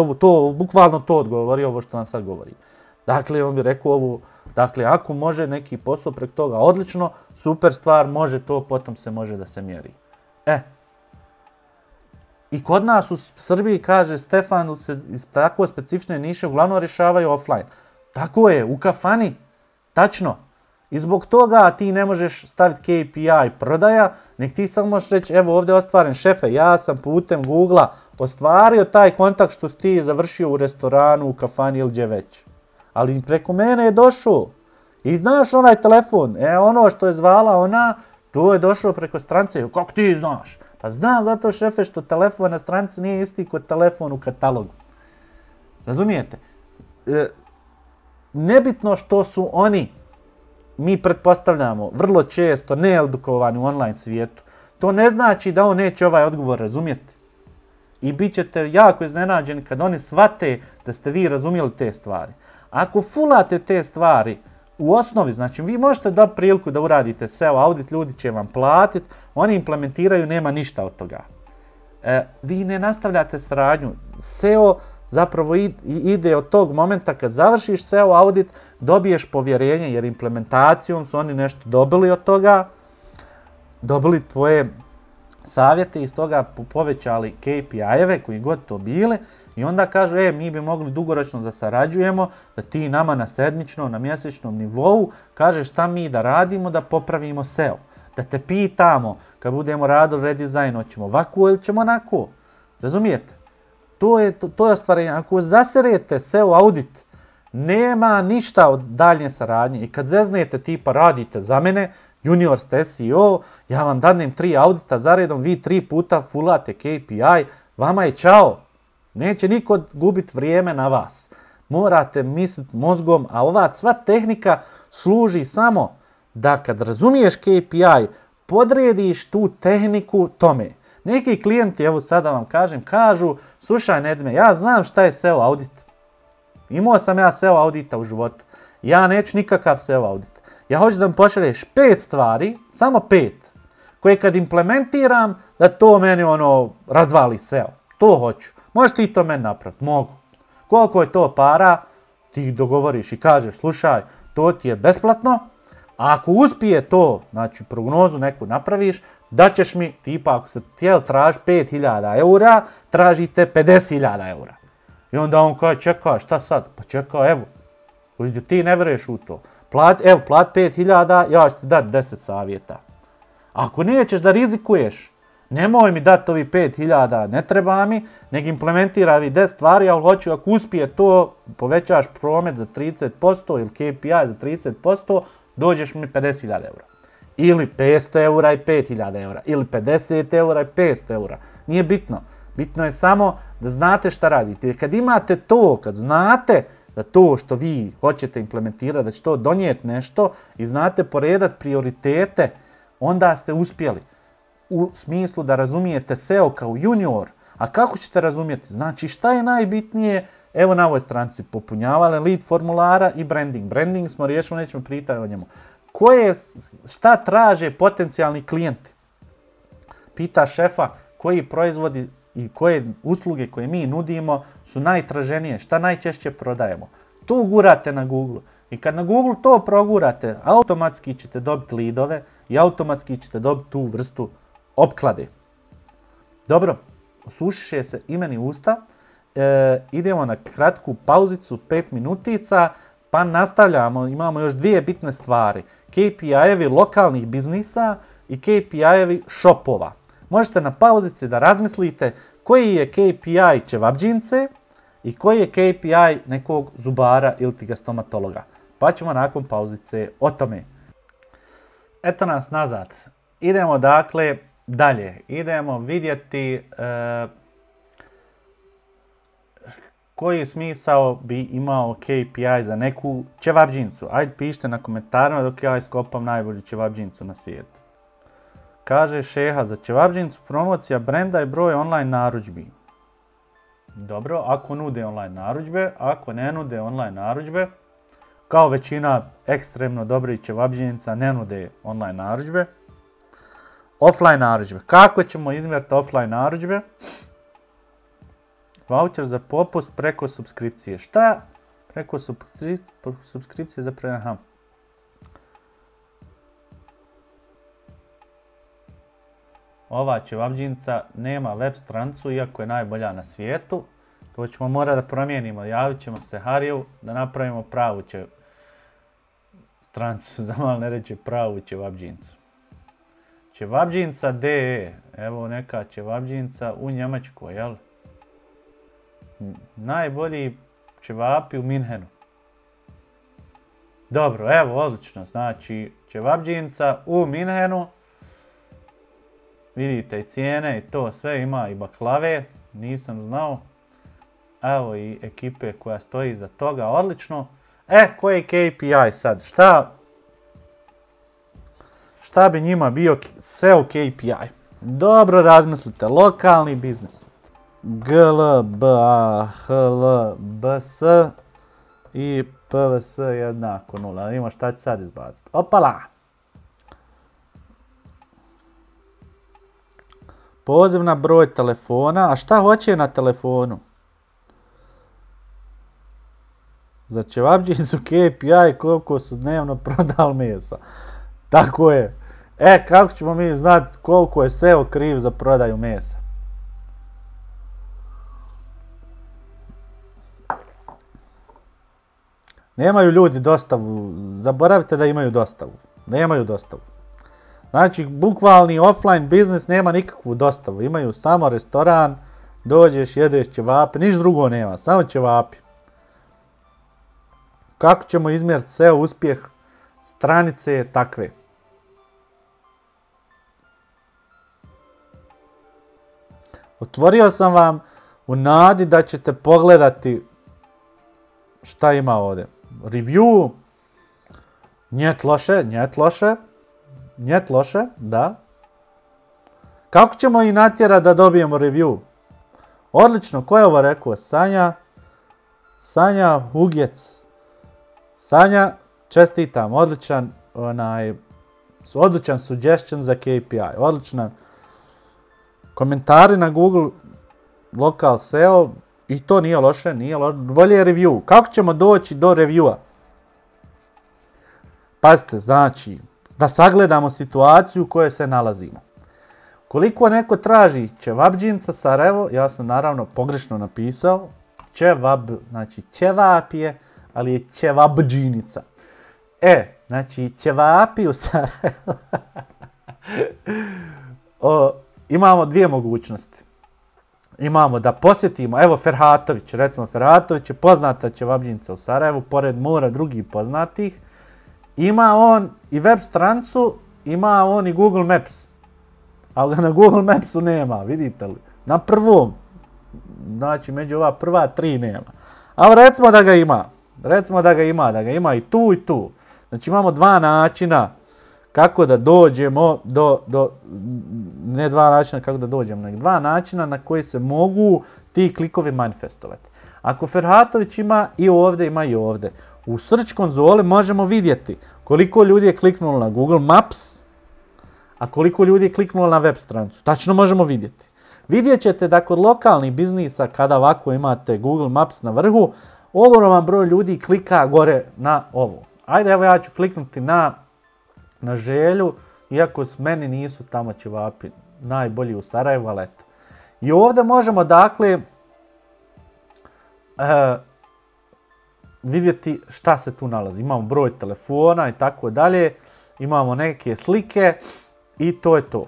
bukvalno to odgovorio, ovo što vam sad govorim. Dakle, on bi rekao ovo, dakle, ako može neki posao preko toga, odlično, super stvar, može to, potom se može da se mjeri. I kod nas u Srbiji, kaže Stefan, iz tako specifične niše uglavnom rješavaju offline. Tako je, u kafani, tačno. I zbog toga ti ne možeš staviti KPI prodaja, nek ti samo možeš reći, evo ovdje je ostvaren šefe, ja sam putem Google-a ostvario taj kontakt što si ti završio u restoranu, u kafani ili gdje već. Ali preko mene je došao. I znaš onaj telefon, ono što je zvala ona, to je došlo preko stranice. Kako ti znaš? Pa znam zato šefe što telefon na stranici nije isti kod telefon u katalogu. Razumijete? Nebitno što su oni, mi pretpostavljamo, vrlo često needukovani u online svijetu. To ne znači da on neće ovaj odgovor razumjeti. I bit ćete jako iznenađeni kad oni shvate da ste vi razumjeli te stvari. Ako fulate te stvari u osnovi, znači vi možete dobiti priliku da uradite SEO audit, ljudi će vam platiti, oni implementiraju, nema ništa od toga. Vi ne nastavljate saradnju. SEO zapravo ide od tog momenta kad završiš SEO audit, dobiješ povjerenje jer implementacijom su oni nešto dobili od toga, dobili tvoje savjete i iz toga povećali KPI-eve koji god to bile i onda kažu mi bi mogli dugoročno da sarađujemo, da ti nama na sedmičnom, na mjesečnom nivou kažeš šta mi da radimo da popravimo SEO. Da te pitamo kad budemo radili redizajn, hoćemo ovako ili ćemo onako. Razumijete? To je ostvarenje. Ako zaserete SEO audit, nema ništa od daljnje saradnje. I kad zeznete tipa radite za mene, junior ste SEO, ja vam dadnem 3 audita za redom, vi 3 puta fulate KPI, vama je čao. Neće niko gubiti vrijeme na vas. Morate misliti mozgom, a ova sva tehnika služi samo da kad razumiješ KPI, podrediš tu tehniku tome. Neki klijenti, evo sada vam kažu, slušaj Nedime, ja znam šta je SEO audit. Imao sam ja SEO audita u životu. Ja neću nikakav SEO audit. Ja hoću da mi pošalješ 5 stvari, samo 5, koje kad implementiram, da to meni razvali SEO. To hoću. Možeš ti to meni napraviti? Mogu. Koliko je to para, ti dogovoriš i kažeš, slušaj, to ti je besplatno, a ako uspije to, znači prognozu neku napraviš, da ćeš mi, tipa ako se htjeli traži 5.000 eura, tražite 50.000 eura. I onda on kaže, čekaj, šta sad? Pa čekaj, evo, ti ne vjeruješ u to. Plati 5.000, ja ću ti dati 10 savjeta. Ako nećeš da rizikuješ, nemoj mi dati ovi 5.000, ne treba mi, nego implementira ovi 10 stvari, ali hoću ako uspije to, povećaš promet za 30% ili KPI za 30%, dođeš mi 50.000 eura. Ili 500 eura i 5.000 eura. Ili 50 eura i 500 eura. Nije bitno. Bitno je samo da znate šta radite. Jer kad imate to, kad znate da to što vi hoćete implementirati, da će to donijeti nešto i znate poredati prioritete, onda ste uspjeli. U smislu da razumijete SEO kao junior. A kako ćete razumjeti? Znači šta je najbitnije? Evo na ovoj stranici popunjavali lead formulara i branding. Branding smo riješili, nećemo pritati o njemu. Šta traže potencijalni klijenti? Pita šefa koji proizvodi i koje usluge koje mi nudimo su najtraženije, šta najčešće prodajemo. To gurate na Google. I kad na Google to progurate, automatski ćete dobiti leadove i automatski ćete dobiti tu vrstu opklade. Dobro, osušiše se imeni usta. Idemo na kratku pauzicu, 5 minutica, pa nastavljamo, imamo još 2 bitne stvari. KPI-evi lokalnih biznisa i KPI-evi shopova. Možete na pauzici da razmislite koji je KPI ćevabdžince i koji je KPI nekog zubara ili ti ga stomatologa. Pa ćemo nakon pauzice o tome. Eto nas nazad. Idemo dakle dalje. Idemo vidjeti koji smisao bi imao KPI za neku ćevabdžincu. Ajde pišite na komentarima dok ja iskopam najbolju ćevabdžincu na svijetu. Kaže Šeha, za ćevabdžincu promocija brenda i broj online narudžbi. Dobro, ako nude online narudžbe, ako ne nude online narudžbe, kao većina ekstremno dobrih ćevabdžinca ne nude online narudžbe. Offline narudžbe. Kako ćemo izmjeriti offline narudžbe? Voucher za popust preko subskripcije. Šta? Preko subskripcije za aha. Ova ćevabdžinca nema web stranicu, iako je najbolja na svijetu. To ćemo morati da promijenimo. Javit ćemo se Hariju da napravimo pravu stranicu, za malo ne reći pravu ćevabdžincu. Ćevabdžinca.de, evo neka ćevabdžinca u Njemačkoj, jel? Najbolji ćevapi u Minhenu. Dobro, evo, odlično, znači ćevabdžinca u Minhenu. Vidite i cijene i to sve, ima i baklave, nisam znao. Evo i ekipe koja stoji iza toga, odlično. Koji je KPI sad? Šta bi njima bio SEO KPI? Dobro razmislite, lokalni biznis. GLBA HLBS i PVS jednako 0. Vidimo šta će sad izbaciti. Opala! Poziv na broj telefona. A šta hoće na telefonu? Za ćevabdžinicu KPI koliko su dnevno prodali mesa. Tako je. Kako ćemo mi znati koliko je SEO kriv za prodaju mesa? Nemaju ljudi dostavu. Zaboravite da imaju dostavu. Nemaju dostavu. Znači, bukvalni offline biznis nema nikakvu dostavu. Imaju samo restoran, dođeš, jedeš ćevape, niš drugo nema, samo ćevapi. Kako ćemo izmjeriti SEO uspjeh? Stranice je takve. Otvorio sam vam u nadi da ćete pogledati šta ima ovdje. Review. Njet loše, da. Kako ćemo i natjerati da dobijemo review? Odlično, ko je ovo rekao? Sanja Hugec. Sanja, čestitam, odličan suggestion za KPI, odličan. Komentari na Google Local SEO, i to nije loše, bolje je review. Kako ćemo doći do reviewa? Pazite, znači, da sagledamo situaciju u kojoj se nalazimo. Koliko neko traži ćevabdžinca Sarajevo, ja sam naravno pogrešno napisao, znači ćevap je, ali je ćevabdžinica. Znači ćevapi u Sarajevu. Imamo dvije mogućnosti. Imamo da posjetimo, evo Ferhatović, recimo Ferhatović je poznata ćevabdžinica u Sarajevu, pored mora drugih poznatih. Ima on i web stranicu, ima on i Google Maps. Ali ga na Google Mapsu nema, vidite li? Na prvom, znači među ova prva tri nema. Ali recimo da ga ima. Da ga ima i tu i tu. Znači imamo dva načina kako da dođemo ne dva načina kako da dođemo, nego dva načina na koji se mogu ti klikovi manifestovati. Ako Ferhatović ima i ovdje, ima i ovdje. U search konzoli možemo vidjeti koliko ljudi je kliknulo na Google Maps, a koliko ljudi je kliknulo na web stranicu. Tačno možemo vidjeti. Vidjet ćete da kod lokalnih biznisa, kada ovako imate Google Maps na vrhu, ogroman broj ljudi klika gore na ovo. Ajde, evo ja ću kliknuti na Želju, iako meni nisu tamo ćevapi najbolji u Sarajevu, ali eto. I ovdje možemo, dakle, vidjeti šta se tu nalazi. Imamo broj telefona i tako dalje, imamo neke slike i to je to.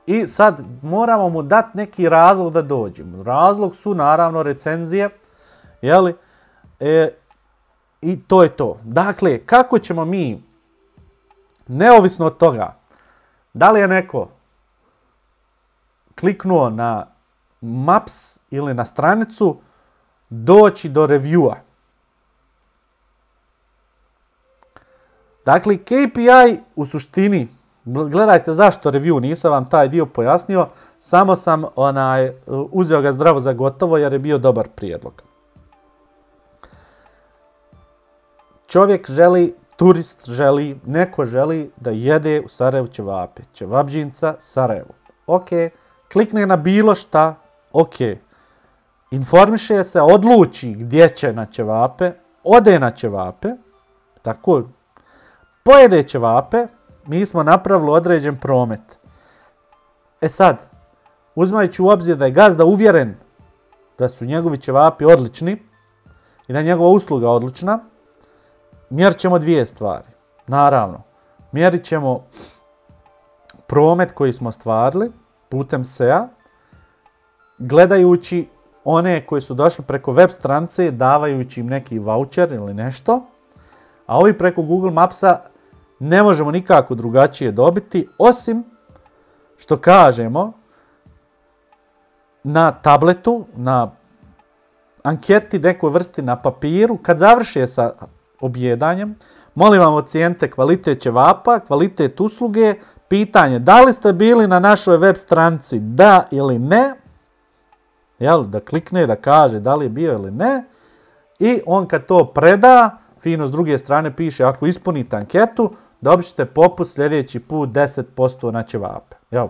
I sad moramo mu dati neki razlog da dođemo. Razlog su naravno recenzije, jeli? I to je to. Dakle, kako ćemo mi, neovisno od toga, da li je neko kliknuo na Maps ili na stranicu, doći do reviewa. Dakle, KPI u suštini, gledajte zašto review, nisam vam taj dio pojasnio, samo sam uzeo ga zdravo za gotovo jer je bio dobar prijedlog. Čovjek želi, turist želi, neko želi da jede u Sarajevu ćevape. Ćevabdžinca Sarajevo. Ok, klikne na bilo šta, ok. Informiše se, odluči gdje će na ćevape, ode na ćevape, tako, pojede ćevape, mi smo napravili određen promet. Sad, uzimajući u obzir da je gazda uvjeren da su njegovi ćevapi odlični i da je njegova usluga odlična, mjerit ćemo dvije stvari. Naravno, mjerit ćemo promet koji smo ostvarili putem SEA, gledajući one koji su došli preko web stranice, davajući im neki voucher ili nešto, a ovi preko Google Mapsa ne možemo nikako drugačije dobiti, osim što kažemo na tabletu, na anketi nekoj vrsti na papiru, kad završe sa objedanjem, molim vam ocijenite kvalitet ćevapa, kvalitet usluge, pitanje da li ste bili na našoj web stranici, da ili ne, Jel? Da klikne, da kaže da li je bio ili ne. I on kad to preda, fino s druge strane piše, ako ispunite anketu, dobit ćete popust sljedeći put 10% na ćevape. Jel?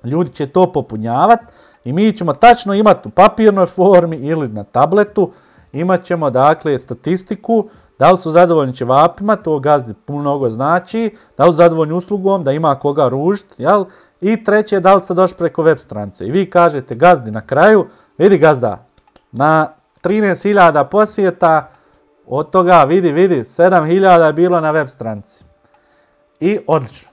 Ljudi će to popunjavati i mi ćemo tačno imati u papirnoj formi ili na tabletu, imat ćemo dakle statistiku, da li su zadovoljni ćevapima, to gazdi mnogo znači, da li su zadovoljni uslugom, da ima koga ružiti, jel? I treće, da li ste došli preko web stranice. I vi kažete gazdi na kraju, vidi gazda, na 13.000 posjeta, od toga vidi, 7.000 je bilo na web stranici. I odlično.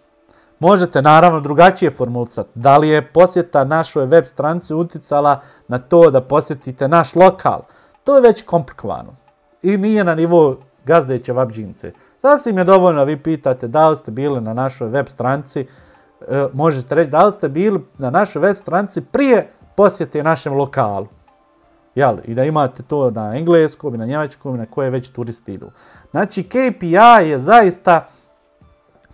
Možete naravno drugačije formulisati. Da li je posjeta našoj web stranici utjecala na to da posjetite naš lokal? To je već komplikovano. I nije na nivou gazde ćevabdžince. Sasvim je dovoljno, vi pitate da li ste bili na našoj web stranici, možete reći da li ste bili na našoj web stranici prije posjete našem lokalu. Jel? I da imate to na engleskom i na njemačkom i na koje već turisti idu. Znači KPI je zaista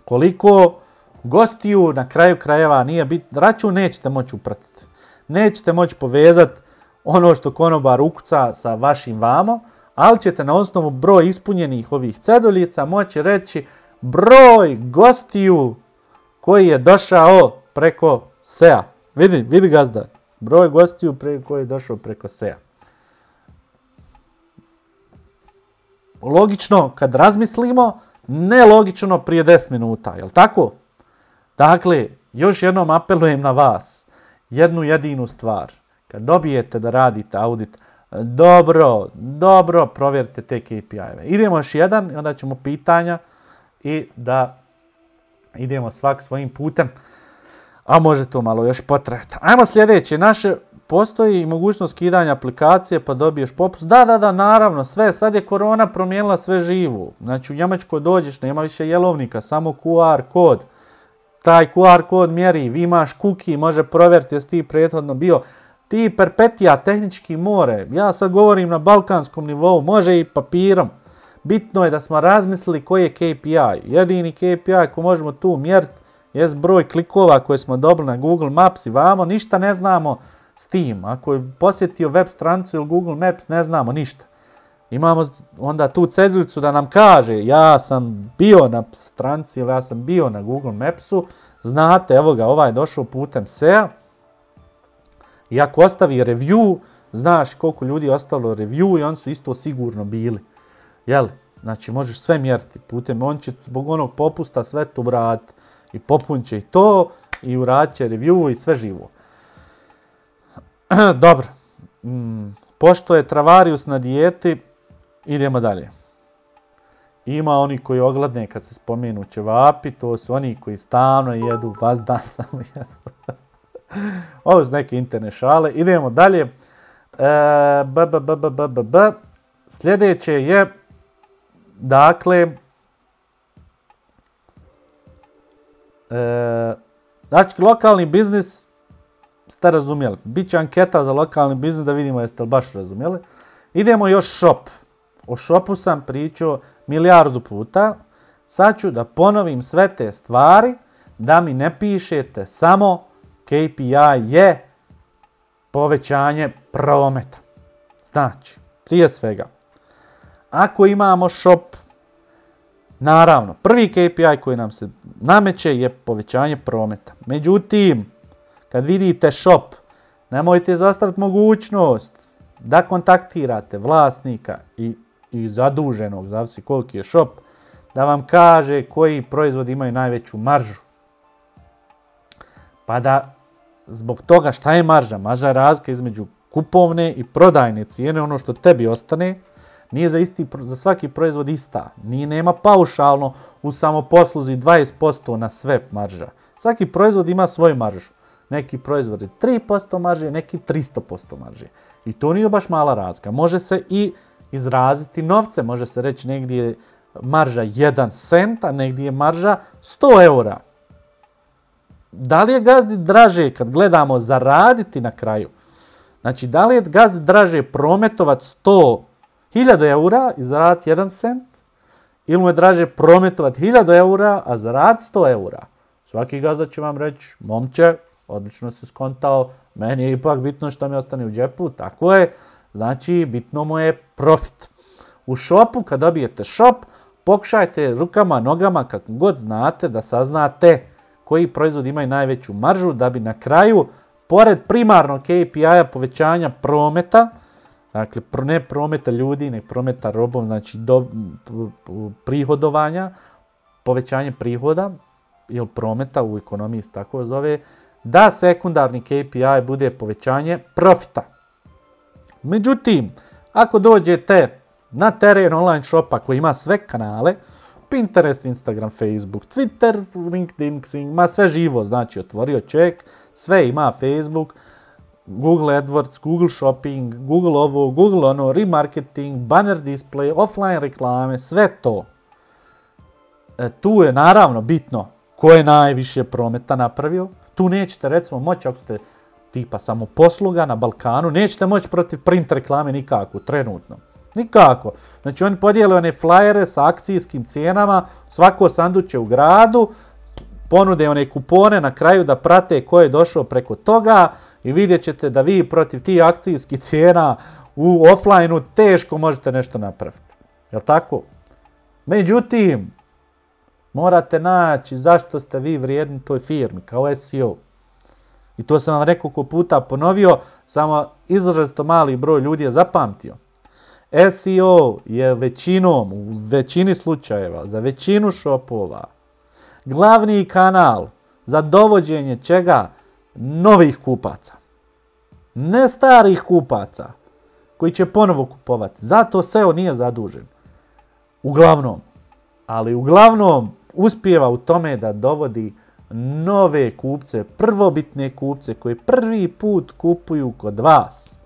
koliko gostiju na kraju krajeva nije bitno. Račun nećete moći upratiti. Nećete moći povezati ono što konobar ukuca sa vašim vamo, ali ćete na osnovu broj ispunjenih ovih ceduljica moći reći broj gostiju koji je došao preko SEA. Vidi gazda, broj gostiju koji je došao preko SEA. Logično kad razmislimo, nelogično prije 10 minuta, jel tako? Dakle, još jednom apelujem na vas, jednu jedinu stvar. Kad dobijete da radite audit, dobro provjerite te KPI-eve. Idemo još jedan i onda ćemo pitanja i da idemo svak svojim putem, a može to malo još potrajati. Ajmo sljedeće, postoji mogućnost skidanja aplikacije pa dobiješ popust. Da, naravno, sve, sad je korona promijenila sve živo. Znači u Njemačkoj dođeš, nema više jelovnika, samo QR kod. Taj QR kod mjeri, vi imaš cookie, može provjeriti jesi ti prethodno bio. Ti perpetija tehnički more, ja sad govorim na balkanskom nivou, može i papirom. Bitno je da smo razmislili koji je KPI. Jedini KPI ko možemo tu mjeriti je broj klikova koje smo dobili na Google Maps i vamo, ništa ne znamo s tim. Ako je posjetio web stranicu ili Google Maps, ne znamo ništa. Imamo onda tu ceduljicu da nam kaže ja sam bio na stranici ili ja sam bio na Google Mapsu, znate, evo ga, ovaj je došao putem SEA. I ako ostavi review, znaš koliko ljudi je ostalo review i oni su isto sigurno bili. Jel? Znači možeš sve mjeriti putem, on će zbog onog popusta sve to vratiti. I popunit će i to, i uradit će review i sve živo. Dobro. Pošto je Travarius na dijeti, idemo dalje. Ima oni koji ogladne kad se spomenu ćevapi, to su oni koji stalno jedu, vazdan samo jedu. Ovo su neke interne šale. Idemo dalje. Sljedeće je, dakle, znači lokalni biznis ste razumjeli. Biće anketa za lokalni biznis da vidimo jeste li baš razumjeli. Idemo još shop. O shopu sam pričao milijardu puta. Sad ću da ponovim sve te stvari da mi ne pišete samo KPI je povećanje prometa. Znači, prije svega, ako imamo shop, naravno, prvi KPI koji nam se nameće je povećanje prometa. Međutim, kad vidite shop, nemojte izostaviti mogućnost da kontaktirate vlasnika i zaduženog, zavisi koliki je shop, da vam kaže koji proizvodi imaju najveću maržu. Pa da zbog toga šta je marža? Marža je razlika između kupovne i prodajne cijene, ono što tebi ostane, nije za svaki proizvod ista. Nema paušalno u samoposluzi 20% na sve marža. Svaki proizvod ima svoju maržu. Neki proizvod je 3% marže, neki 300% marže. I to nije baš mala razlika. Može se i izraziti novce, može se reći negdje je marža 1 cent, a negdje je marža 100 eura. Da li je gazdi draže kad gledamo zaraditi na kraju? Znači, da li je gazdi draže prometovati 100.000 eura i zaraditi 1 cent? Ili mu je draže prometovati 1000 eura, a zaraditi 100 eura? Svaki gazda će vam reći, momče, odlično si skontao, Meni je ipak bitno što mi ostane u džepu, tako je. Znači, bitno mu je profit. U shopu, kad dobijete shop, pokušajte rukama, nogama, kako god znate, da saznate koji proizvod imaju najveću maržu, da bi na kraju, pored primarnog KPI-a povećanja prometa, dakle, ne prometa ljudi, ne prometa robom, znači prihodovanja, povećanje prihoda, ili prometa u ekonomiji se tako zove, da sekundarni KPI bude povećanje profita. Međutim, ako dođete na teren online shopa koji ima sve kanale, Pinterest, Instagram, Facebook, Twitter, LinkedIn, ima sve živo, znači otvorio čovjek, sve ima Facebook, Google AdWords, Google Shopping, Google ovo, Google ono, remarketing, banner display, offline reklame, sve to. Tu je naravno bitno ko je najviše prometa napravio. Tu nećete recimo moći, ako ste tipa samoposluga na Balkanu, nećete moći protiv print reklame nikako, trenutno. Nikako. Znači oni podijele one flyere sa akcijskim cijenama, svako sanduče u gradu, ponude one kupone na kraju da prate ko je došao preko toga i vidjet ćete da vi protiv tih akcijskih cijena u offline-u teško možete nešto napraviti. Jel' tako? Međutim, morate naći zašto ste vi vrijedni toj firmi kao SEO. I to sam vam nekoliko puta ponovio, samo izrazito mali broj ljudi je zapamtio. SEO je većinom, u većini slučajeva, za većinu shopova, glavni kanal za dovođenje čega? Novih kupaca. Ne starih kupaca koji će ponovo kupovati. Zato SEO nije zadužen. Uglavnom. Ali uglavnom uspijeva u tome da dovodi nove kupce, prvobitne kupce koji prvi put kupuju kod vas.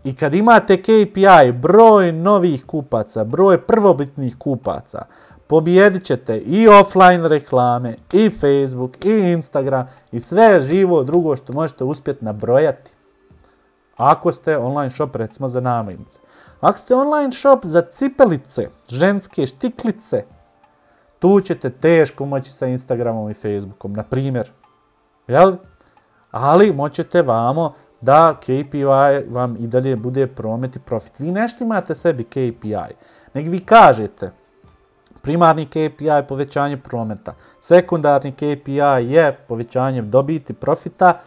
I kad imate KPI, broj novih kupaca, broj prvobitnih kupaca, pobijedit ćete i offline reklame, i Facebook, i Instagram, i sve živo drugo što možete uspjeti nabrojati. Ako ste online shop recimo za namirnice. Ako ste online shop za cipelice, ženske štiklice, tu ćete teško moći sa Instagramom i Facebookom, na primjer. Jel? Ali moćete vamo da KPI vam i dalje bude promet i profit. Vi nešto imate sebi KPI, nego vi kažete primarni KPI je povećanje prometa, sekundarni KPI je povećanje dobiti profita,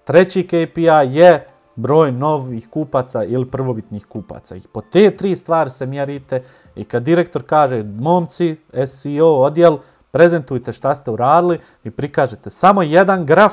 treći KPI je broj novih kupaca ili prvobitnih kupaca. I po te tri stvari se mjerite i kad direktor kaže momci, SEO odjel, prezentujte šta ste uradili i prikažete samo jedan graf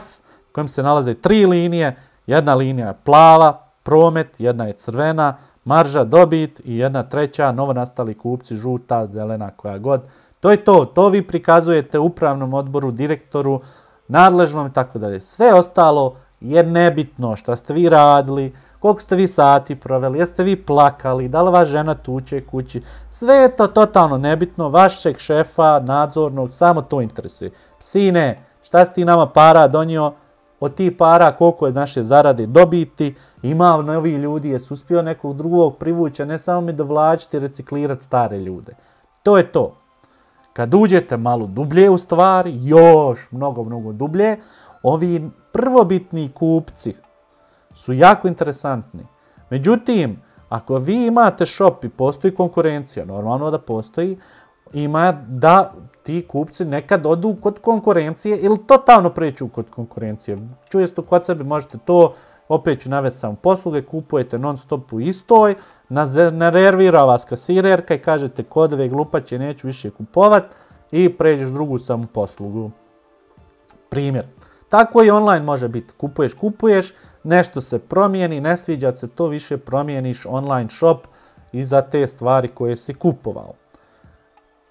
u kojem se nalaze tri linije. Jedna linija je plava, promet, jedna je crvena, marža, dobit i jedna treća, novonastali kupci, žuta, zelena, koja god. To je to, to vi prikazujete upravnom odboru, direktoru, nadležnom i tako dalje. Sve ostalo je nebitno šta ste vi radili, koliko ste vi sati proveli, jeste vi plakali, da li vas žena tuče kući. Sve je to totalno nebitno, vašeg šefa, nadzornog, samo to interesuje. Sine, šta si ti nama para donio? Od tih para koliko je naše zarade dobiti, ima novi ljudi, jesu uspio nekog drugog privući, ne samo mi dovlačiti, reciklirati stare ljude. To je to. Kad uđete malo dublje u stvari, još mnogo dublje, ovi prvobitni kupci su jako interesantni. Međutim, ako vi imate shop i postoji konkurencija, normalno da postoji, ima da ti kupci nekad odu kod konkurencije ili totalno pređu kod konkurencije. Čujesto kod sebe možete to, opet ću navesti samo posluge, kupujete non stop u istoj, nervira vas kasirerka i kažete kodove glupaće neću više kupovat i pređeš drugu samo poslugu. Primjer. Tako i online može biti. Kupuješ, nešto se promijeni, ne sviđa se to, više promijeniš online shop i za te stvari koje si kupovao.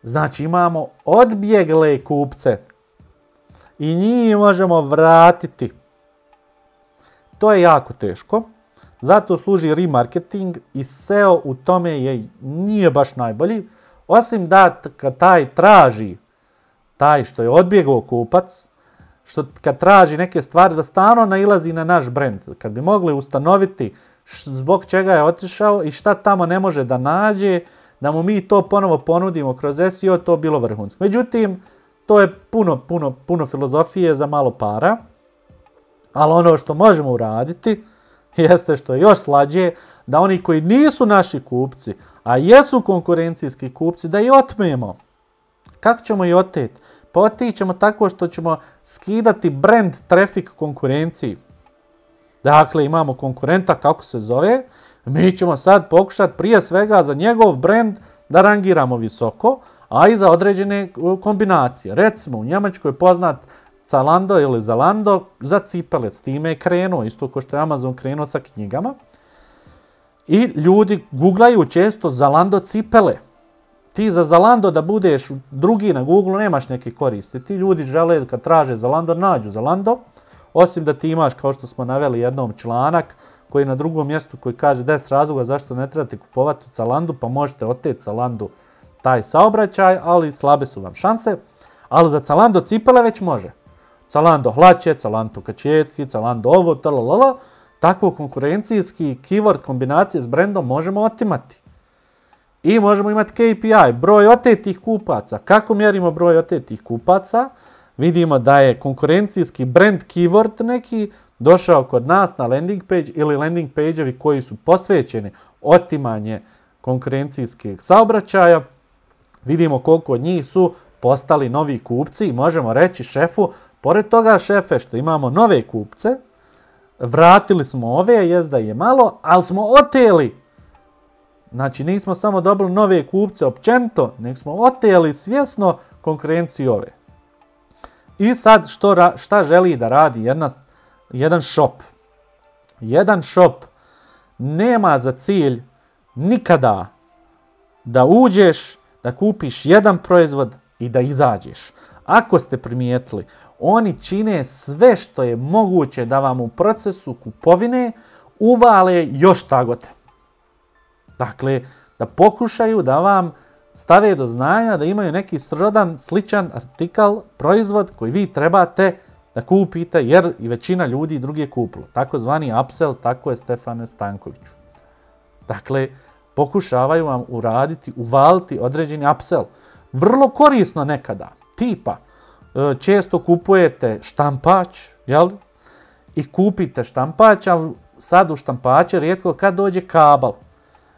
Znači imamo odbjegle kupce i njih možemo vratiti. To je jako teško, zato služi remarketing i SEO u tome nije baš najbolji, osim da kad taj traži, taj što je odbjegao kupac, kad traži neke stvari da stvarno nailazi na naš brand, kad bi mogli ustanoviti zbog čega je otišao i šta tamo ne može da nađe, da mu mi to ponovo ponudimo kroz SEO, to bilo vrhunsko. Međutim, to je puno filozofije za malo para. Ali ono što možemo uraditi jeste, što je još slađe, da oni koji nisu naši kupci, a jesu konkurencijski kupci, da ih otmemo. Kako ćemo ih oteti? Pa otići ćemo tako što ćemo skidati brand traffic konkurenciji. Dakle, imamo konkurenta, kako se zove, mi ćemo sad pokušati prije svega za njegov brand da rangiramo visoko, a i za određene kombinacije. Recimo, u Njemačkoj je poznat Zalando ili Zalando za cipele, s time je krenuo, isto kao što je Amazon krenuo sa knjigama. I ljudi googlaju često Zalando cipele. Ti za Zalando da budeš drugi na Google nemaš neke koristi. Ti ljudi žele kad traže Zalando, nađu Zalando. Osim da ti imaš, kao što smo naveli jednom članak, koji je na drugom mjestu koji kaže 10 razloga zašto ne trebate kupovati u Zalandu, pa možete oteti Zalandu taj saobraćaj, ali slabe su vam šanse. Ali za Zalando cipele već može. Zalando hlače, Zalando kačetki, Zalando ovo, talalala. Takvo konkurencijski keyword kombinacije s brendom možemo otimati. I možemo imati KPI, broj otetih kupaca. Kako mjerimo broj otetih kupaca? Vidimo da je konkurencijski brand keyword neki došao kod nas na landing page ili landing page-evi koji su posvećeni otimanje konkurencijskih saobraćaja. Vidimo koliko od njih su postali novi kupci i možemo reći šefu, pored toga šefe što imamo nove kupce, vratili smo ove, jest da je malo, ali smo oteli. Znači nismo samo dobili nove kupce općenito, nego smo oteli svjesno konkurenciju ove. I sad šta želi da radi jedan shop? Jedan shop nema za cilj nikada da uđeš, da kupiš jedan proizvod i da izađeš. Ako ste primijetili, oni čine sve što je moguće da vam u procesu kupovine uvale još tagote. Dakle, da pokušaju da vam stave do znanja da imaju neki srodan, sličan artikal, proizvod koji vi trebate da kupite jer i većina ljudi drugi kupilo. Takozvani upsell, tako je Stefane Stankoviću. Dakle, pokušavaju vam uvaliti određeni upsell. Vrlo korisno nekada. Tipa, često kupujete štampač, jel? I kupite štampač, a sad u štampače rijetko kad dođe kabel.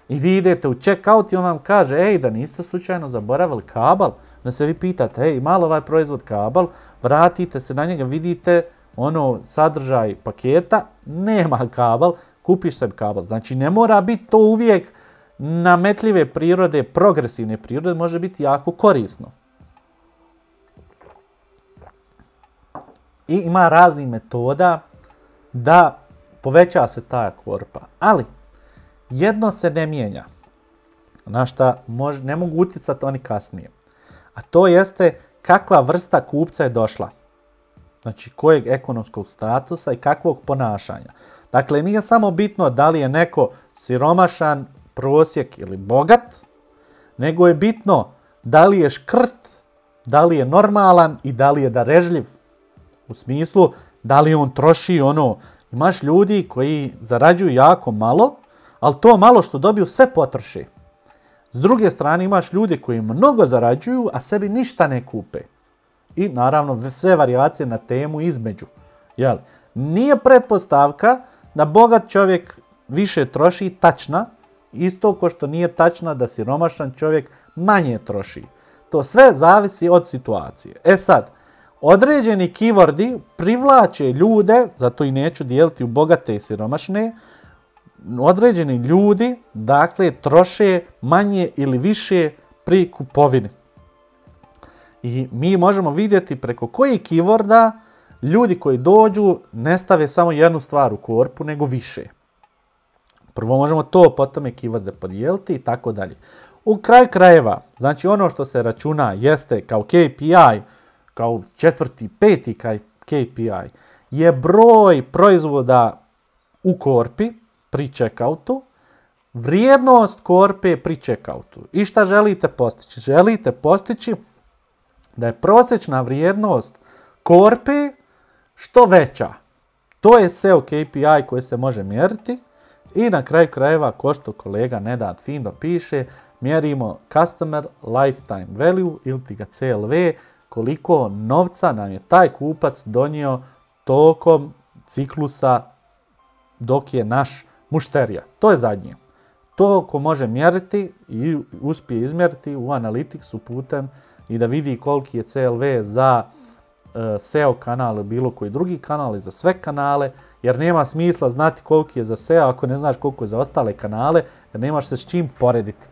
I vi idete u checkout i on vam kaže, ej, da niste slučajno zaboravili kabel. Da se vi pitate, ej, malo ovaj proizvod kabel, vratite se na njega, vidite sadržaj paketa, nema kabel, kupiš sebi kabel. Znači ne mora biti to uvijek nametljive prirode, progresivne prirode, može biti jako korisno. I ima raznih metoda da poveća se ta korpa. Ali, jedno se ne mijenja, na šta ne mogu utjecati oni kasnije. A to jeste kakva vrsta kupca je došla. Znači kojeg ekonomskog statusa i kakvog ponašanja. Dakle, nije samo bitno da li je neko siromašan, prosjek ili bogat, nego je bitno da li je škrt, da li je normalan i da li je darežljiv. U smislu, da li on troši imaš ljudi koji zarađuju jako malo, ali to malo što dobiju sve potroše. S druge strane imaš ljude koji mnogo zarađuju, a sebi ništa ne kupe. I naravno sve varijacije na temu između. Jel? Nije pretpostavka da bogat čovjek više troši tačna, isto kao što nije tačna da siromašan čovjek manje troši. To sve zavisi od situacije. E sad, određeni keywordi privlače ljude, zato i neću dijeliti u bogate i siromašne, određeni ljudi, dakle, troše manje ili više pri kupovini. I mi možemo vidjeti preko kojih keyworda ljudi koji dođu ne stave samo jednu stvar u korpu, nego više. Prvo možemo to, potom je keyworde podijeliti i tako dalje. U kraju krajeva, znači ono što se računa jeste kao KPI, kao 4., 5. KPI, je broj proizvoda u korpi pri checkoutu, vrijednost korpe pri checkoutu. I šta želite postići? Želite postići da je prosječna vrijednost korpe što veća. To je SEO KPI koji se može mjeriti i na kraju krajeva, ko što kolega Nenad fino piše, mjerimo Customer Lifetime Value ili ti ga CLV, koliko novca nam je taj kupac donio tokom ciklusa dok je naš mušterija. To je zadnje. To ko može mjeriti i uspije izmjeriti u Analyticsu putem i da vidi koliki je CLV za SEO kanal ili bilo koji drugi kanal i za sve kanale, jer nema smisla znati koliki je za SEO ako ne znaš koliko je za ostale kanale, jer nemaš se s čim porediti.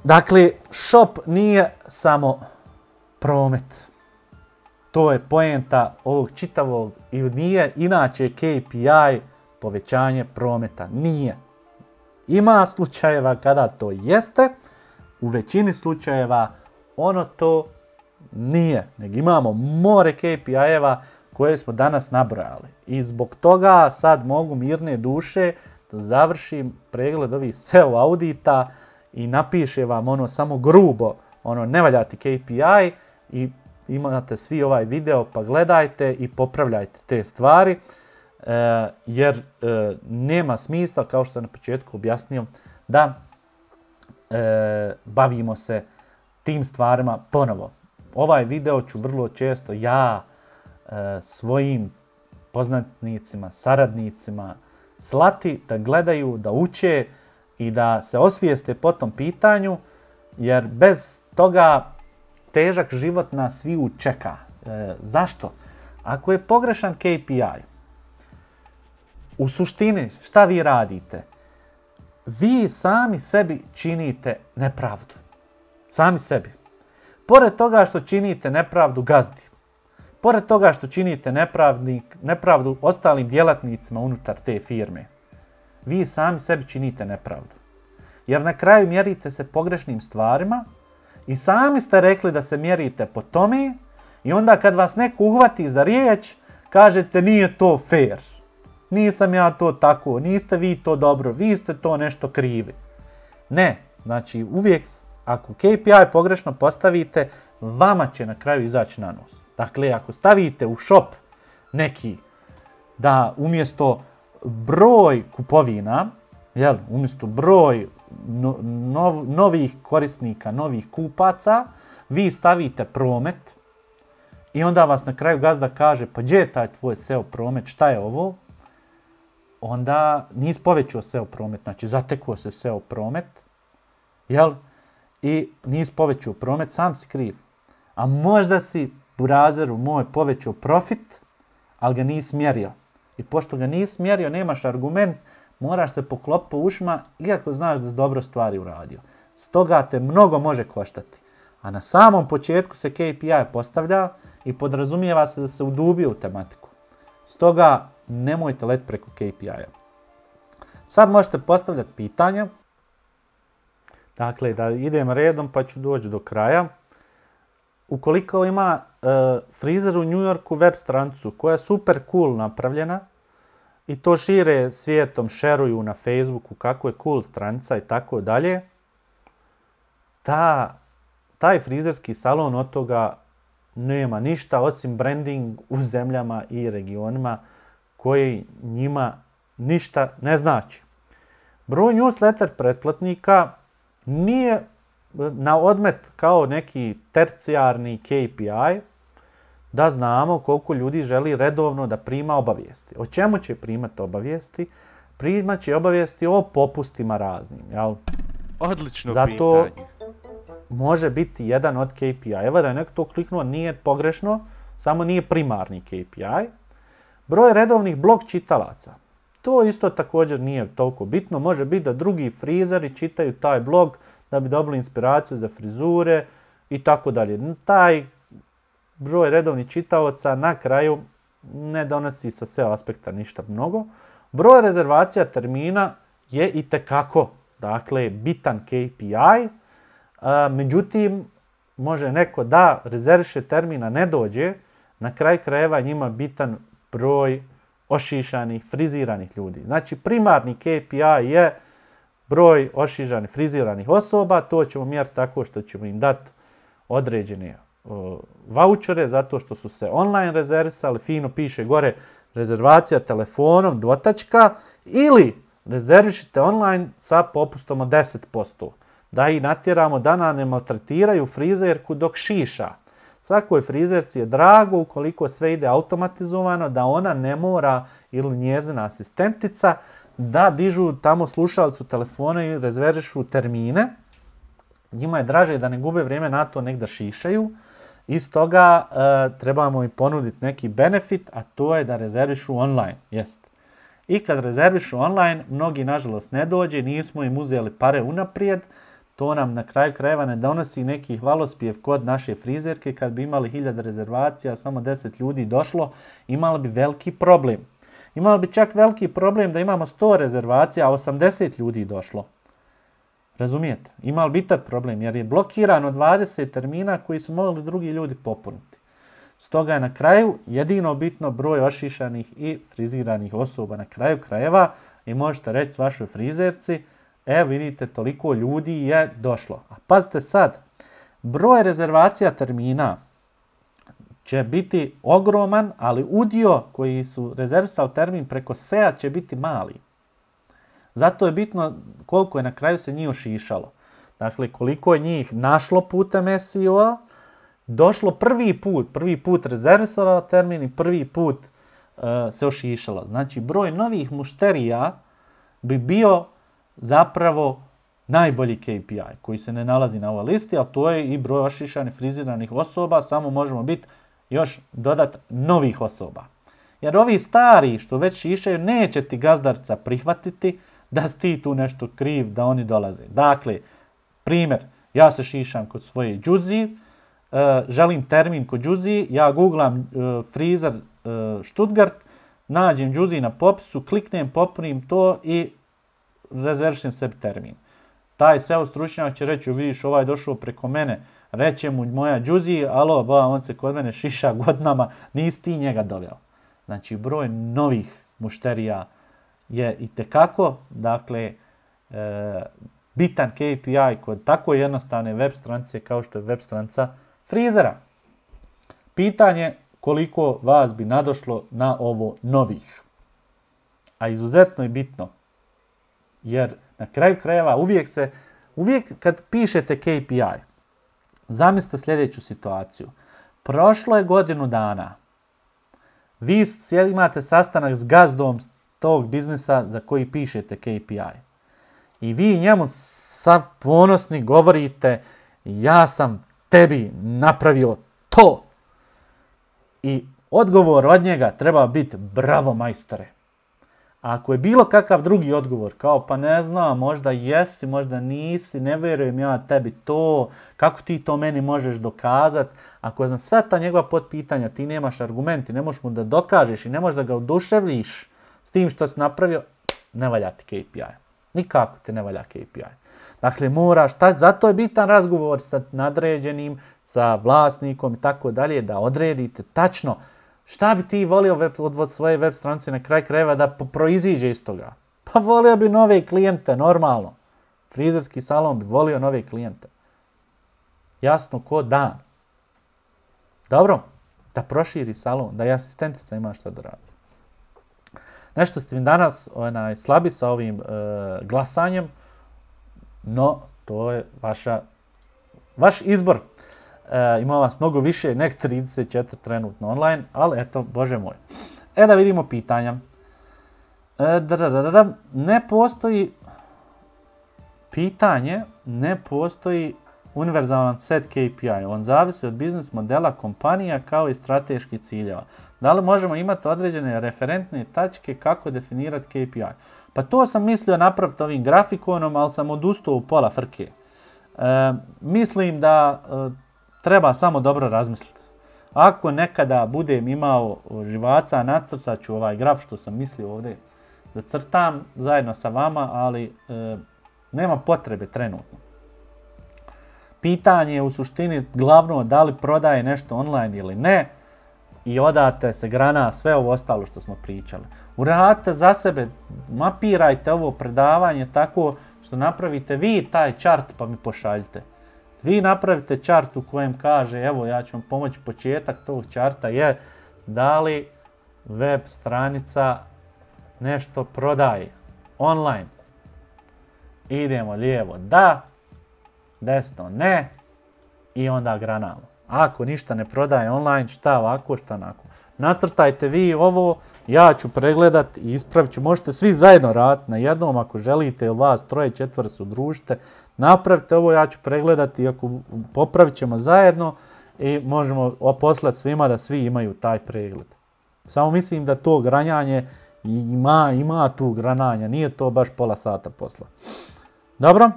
Dakle, shop nije samo promet. To je poenta ovog čitavog i nije inače KPI povećanje prometa. Nije. Ima slučajeva kada to jeste, u većini slučajeva ono to nije. Nego imamo more KPI-eva koje smo danas nabrojali. I zbog toga sad mogu mirne duše da završim pregled ovih SEO audita i napiše vam ono samo grubo, ono ne valjati KPI i imate svi ovaj video pa gledajte i popravljajte te stvari. Jer nema smisla, kao što sam na početku objasnio, da bavimo se tim stvarima ponovo. Ovaj video ću vrlo često ja svojim poznanicima, saradnicima slati da gledaju, da uče i da se osvijeste po tom pitanju, jer bez toga težak život nas sviju čeka. Zašto? Ako je pogrešan KPI, u suštini šta vi radite? Vi sami sebi činite nepravdu. Sami sebi. Pored toga što činite nepravdu gazdi, pored toga što činite nepravdu ostalim djelatnicima unutar te firme, vi sami sebi činite nepravdu. Jer na kraju mjerite se pogrešnim stvarima i sami ste rekli da se mjerite po tome i onda kad vas neko uhvati za riječ, kažete nije to fair. Nisam ja to tako, niste vi to dobro, vi ste to nešto krivi. Ne, znači uvijek ako KPI pogrešno postavite, vama će na kraju izaći na nos. Dakle, ako stavite u shop neki da umjesto broj kupovina, umjesto broj novih korisnika, novih kupaca, vi stavite promet i onda vas na kraju gazda kaže pa gdje je taj tvoj SEO promet, šta je ovo? Onda nisi povećao SEO promet, znači zatekao se SEO promet, i nisi povećao promet, sam si kriv. A možda si burazeru moj povećao profit, ali ga nisi mjerio. I pošto ga nisi mjerio, nemaš argument, moraš se poklopiti po ušima, iako znaš da si dobro stvari uradio. Stoga te mnogo može koštati. A na samom početku se KPI postavlja i podrazumijeva se da se udubio u tematiku. Stoga nemojte letiti preko KPI-a. Sad možete postavljati pitanja. Dakle, da idem redom pa ću doći do kraja. Ukoliko ima frizer u New Yorku web stranicu koja je super cool napravljena i to šire svijetom, šeruju na Facebooku kako je cool stranica i tako dalje, taj frizerski salon od toga nema ništa osim branding u zemljama i regionima koji njima ništa ne znači. Broj newsletter pretplatnika nije na odmet kao neki tercijarni KPI da znamo koliko ljudi želi redovno da prima obavijesti. O čemu će primati obavijesti? Primat će obavijesti o popustima raznim. Odlično Zato pitanje. može biti jedan od KPI. Evo da je neko to kliknuo, nije pogrešno, samo nije primarni KPI. Broj redovnih blog čitalaca. To isto također nije toliko bitno. Može biti da drugi frizeri čitaju taj blog da bi dobili inspiraciju za frizure i tako dalje. Taj broj redovnih čitaoca na kraju ne donosi sa SEO aspekta ništa mnogo. Broj rezervacija termina je itekako, dakle, bitan KPI. Međutim, može neko da rezerviše termina ne dođe, na kraju krajeva njima bitan broj ošišanih, friziranih ljudi. Znači, primarni KPI je broj ošišanih, friziranih osoba. To ćemo mjeriti tako što ćemo im dati određene vouchere zato što su se online rezervisali. Fino piše gore rezervacija telefonom, dvotačka, ili rezervišite online sa popustom od 10%. Da ih natjeramo da nam ne maltretiraju frizerku dok šiša. Svakoj frizerci je drago ukoliko sve ide automatizovano, da ona ne mora ili njezina asistentica da dižu tamo slušalicu telefona i rezervišu termine. Njima je draže da ne gube vrijeme na to nek da šišaju. Iz toga trebamo im ponuditi neki benefit, a to je da rezervišu online. I kad rezervišu online, mnogi nažalost ne dođe, nismo im uzeli pare unaprijed. To nam na kraju krajeva ne donosi neki hvalospjev kod naše frizerke. Kad bi imali 1000 rezervacija, samo 10 ljudi došlo, imali bi veliki problem. Imali bi čak veliki problem da imamo 100 rezervacija, a 80 ljudi došlo. Razumijete? Imali bi tad problem jer je blokirano 20 termina koji su mogli drugi ljudi popuniti. Stoga je na kraju jedino bitno broj ošišanih i friziranih osoba na kraju krajeva i možete reći vašoj frizerci, evo vidite toliko ljudi je došlo. A pazite sad, broj rezervacija termina će biti ogroman, ali udio koji su rezervisali termin preko SEA će biti mali. Zato je bitno koliko je na kraju se njih ošišalo. Dakle, koliko je njih našlo putem SEO-a, došlo prvi put rezervisalo termin i prvi put se ošišalo. Znači, broj novih mušterija bi bio zapravo najbolji KPI koji se ne nalazi na ovoj listi, a to je i broj ošišanih friziranih osoba, samo možemo biti još dodat novih osoba. Jer ovi stari što već šišaju neće ti gazdarca prihvatiti da si ti tu nešto kriv, da oni dolaze. Dakle, primjer, ja se šišam kod svoje džuzije, želim termin kod džuzije, ja googlam frizer Stuttgart, nađem džuzije na popisu, kliknem, popunim to i rezervišem sebi termin. Taj SEO stručnjak će reći, vidiš ovaj je došao preko mene, reće mu moja džuzija, alo, on se kod mene šiša godinama, nisi ti njega doveo. Znači, broj novih mušterija je itekako, dakle, bitan KPI kod tako jednostavne web stranice kao što je web stranica frizera. Pitanje koliko vas bi nadošlo na ovo novih. A izuzetno je bitno, jer na kraju krajeva uvijek kad pišete KPI, zamislite sljedeću situaciju. Prošlo je godinu dana. Vi imate sastanak s gazdom tog biznisa za koji pišete KPI. I vi njemu sav ponosni govorite, ja sam tebi napravio to. I odgovor od njega treba biti bravo majstore. A ako je bilo kakav drugi odgovor, kao pa ne znam, možda jesi, možda nisi, ne vjerujem ja tebi to, kako ti to meni možeš dokazati. Ako znam sve ta njegova potpitanja, ti nemaš argumenti, ne možeš mu da dokažeš i ne možeš da ga oduševljiš s tim što si napravio, ne valja ti KPI. Nikako te ne valja KPI. Dakle, moraš, zato je bitan razgovor sa nadređenim, sa vlasnikom i tako dalje, da odredite tačno šta bi ti volio od svoje web stranice na kraj krajeva da proiziđe iz toga. Pa volio bi nove klijente, normalno. Frizerski salon bi volio nove klijente. Jasno ko dan. Dobro, da proširi salon, da i asistentica ima šta da radi. Nešto ste mi danas slabi sa ovim glasanjem, no to je vaš izbor. Ima vas mnogo više, nek 34 trenutno online, ali eto, bože moj. Da vidimo pitanja. Ne postoji univerzalan set KPI. On zavisi od biznis modela kompanija kao i strateških ciljeva. Da li možemo imati određene referentne tačke kako definirati KPI? Pa to sam mislio napraviti ovim grafikonom, ali sam odustao u pola frke. Mislim da treba samo dobro razmisliti. Ako nekada budem imao živaca, nacrtat ću ovaj graf što sam mislio ovdje da crtam zajedno sa vama, ali nema potrebe trenutno. Pitanje je u suštini glavno da li prodaje nešto online ili ne i odate se grana sve ovo ostalo što smo pričali. Uradite za sebe, mapirajte ovo predavanje tako što napravite vi taj chart pa mi pošaljite. Vi napravite chart u kojem kaže, evo ja ću vam pomoći, početak tog charta je da li web stranica nešto prodaje online. Idemo lijevo da, desno ne i onda granamo. Ako ništa ne prodaje online, šta ovako, šta onako. Nacrtajte vi ovo, ja ću pregledat i ispravit ću. Možete svi zajedno raditi na jednom ako želite, ili vas 3, 4 se udružite. Napravite ovo, ja ću pregledati i ako popravit ćemo zajedno i možemo poslati svima da svi imaju taj pregled. Samo mislim da to granjanje ima tu grananja, nije to baš pola sata posla. Dobro.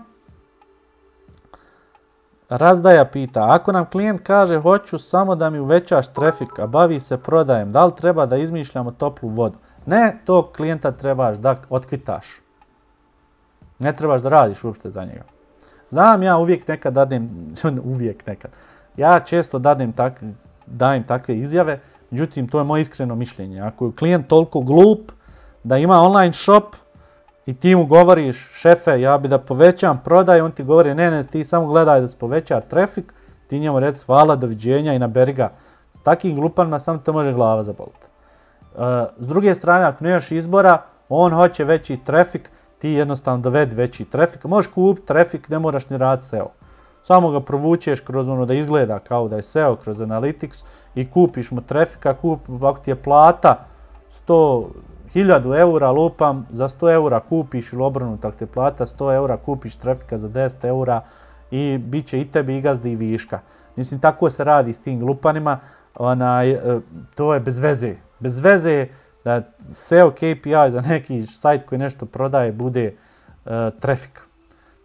Razdaja pita, ako nam klijent kaže hoću samo da mi uvećaš trafik, a bavi se prodajem, da li treba da izmišljamo toplu vodu? Ne, tog klijenta trebaš da otkvitaš. Ne trebaš da radiš uopšte za njega. Znam, ja uvijek nekad ja često dajem takve izjave, međutim to je moje iskreno mišljenje. Ako je klijent toliko glup da ima online shop, i ti mu govoriš, šefe, ja bi da povećam prodaj, on ti govori, ne, ti samo gledaj da se poveća trafik, ti njemu reci hvala, doviđenja i naberi ga. S takim glupanima samo te može glava zaboliti. S druge strane, ako nemaš izbora, on hoće veći trafik, ti jednostavno dovedi veći trafik. Možeš kupiti trafik, ne moraš ni raditi SEO. Samo ga provučeš kroz ono da izgleda kao da je SEO, kroz Analytics i kupiš mu trafika, ako ti je plata 1000 eura, lupam, za 100 eura kupiš ili obrnuto, ako te plata 100 eura, kupiš trafika za 10 eura i bit će i tebi i gazdi i viška. Mislim, tako se radi s tim glupanima, to je bez veze. Bez veze je da SEO KPI za neki sajt koji nešto prodaje bude trafik.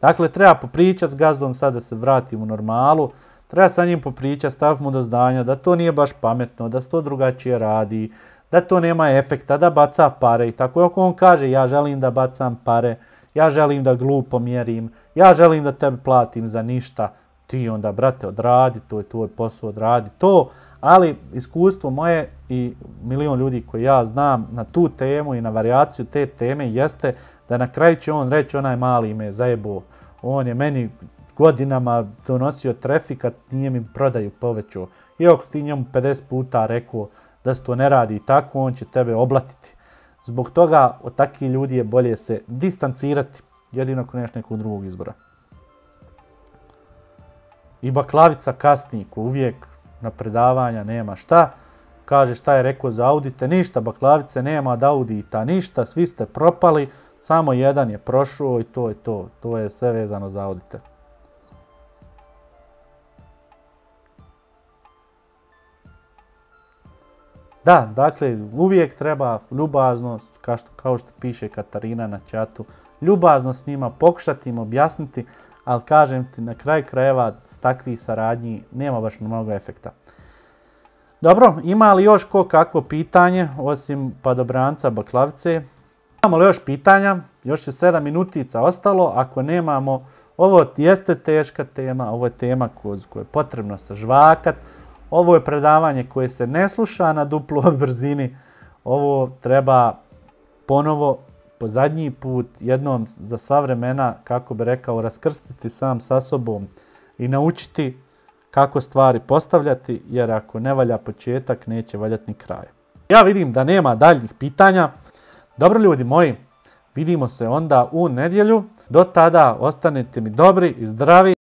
Dakle, treba popričati s gazdom, sad da se vratim u normalu, treba sa njim popričati, staviti mu do znanja da to nije baš pametno, da se to drugačije radi, da to nema efekta, da baca pare i tako. Ako on kaže ja želim da bacam pare, ja želim da glupo mjerim, ja želim da tebe platim za ništa, ti onda, brate, odradi, to je tvoj posao, odradi to. Ali iskustvo moje i milion ljudi koji ja znam na tu temu i na varijaciju te teme jeste da na kraju će on reći onaj mali me zajebao. On je meni godinama donosio trafika, nije mi prodaju povećao. I ako ti njemu 50 puta rekao da se to ne radi tako, on će tebe oblatiti. Zbog toga od takvih ljudi je bolje se distancirati, jedino ako nemaš nekog drugog izbora. I baklavica kasnik uvijek na predavanja nema šta. Kaže šta je rekao za audite, ništa, baklavice nema od audita, ništa, svi ste propali, samo jedan je prošao i to je to. To je sve vezano za audite. Da, dakle, uvijek treba ljubazno, kao što piše Katarina na čatu, ljubazno s njima pokušati im objasniti, ali kažem ti, na kraju krajeva s takvih saradnji nema baš mnogo efekta. Dobro, ima li još kakvo pitanje, osim padobranca baklavice? Imamo li još pitanja? Još je 7 minutica ostalo, ako nemamo, ovo jeste teška tema, ovo je tema koju je potrebno sažvakat. Ovo je predavanje koje se ne sluša na duploj brzini. Ovo treba ponovo, po zadnji put, jednom za sva vremena, kako bi rekao, raskrstiti sam sa sobom i naučiti kako stvari postavljati, jer ako ne valja početak, neće valjati ni kraj. Ja vidim da nema daljnjih pitanja. Dobro ljudi moji, vidimo se onda u nedjelju. Do tada ostanite mi dobri i zdravi.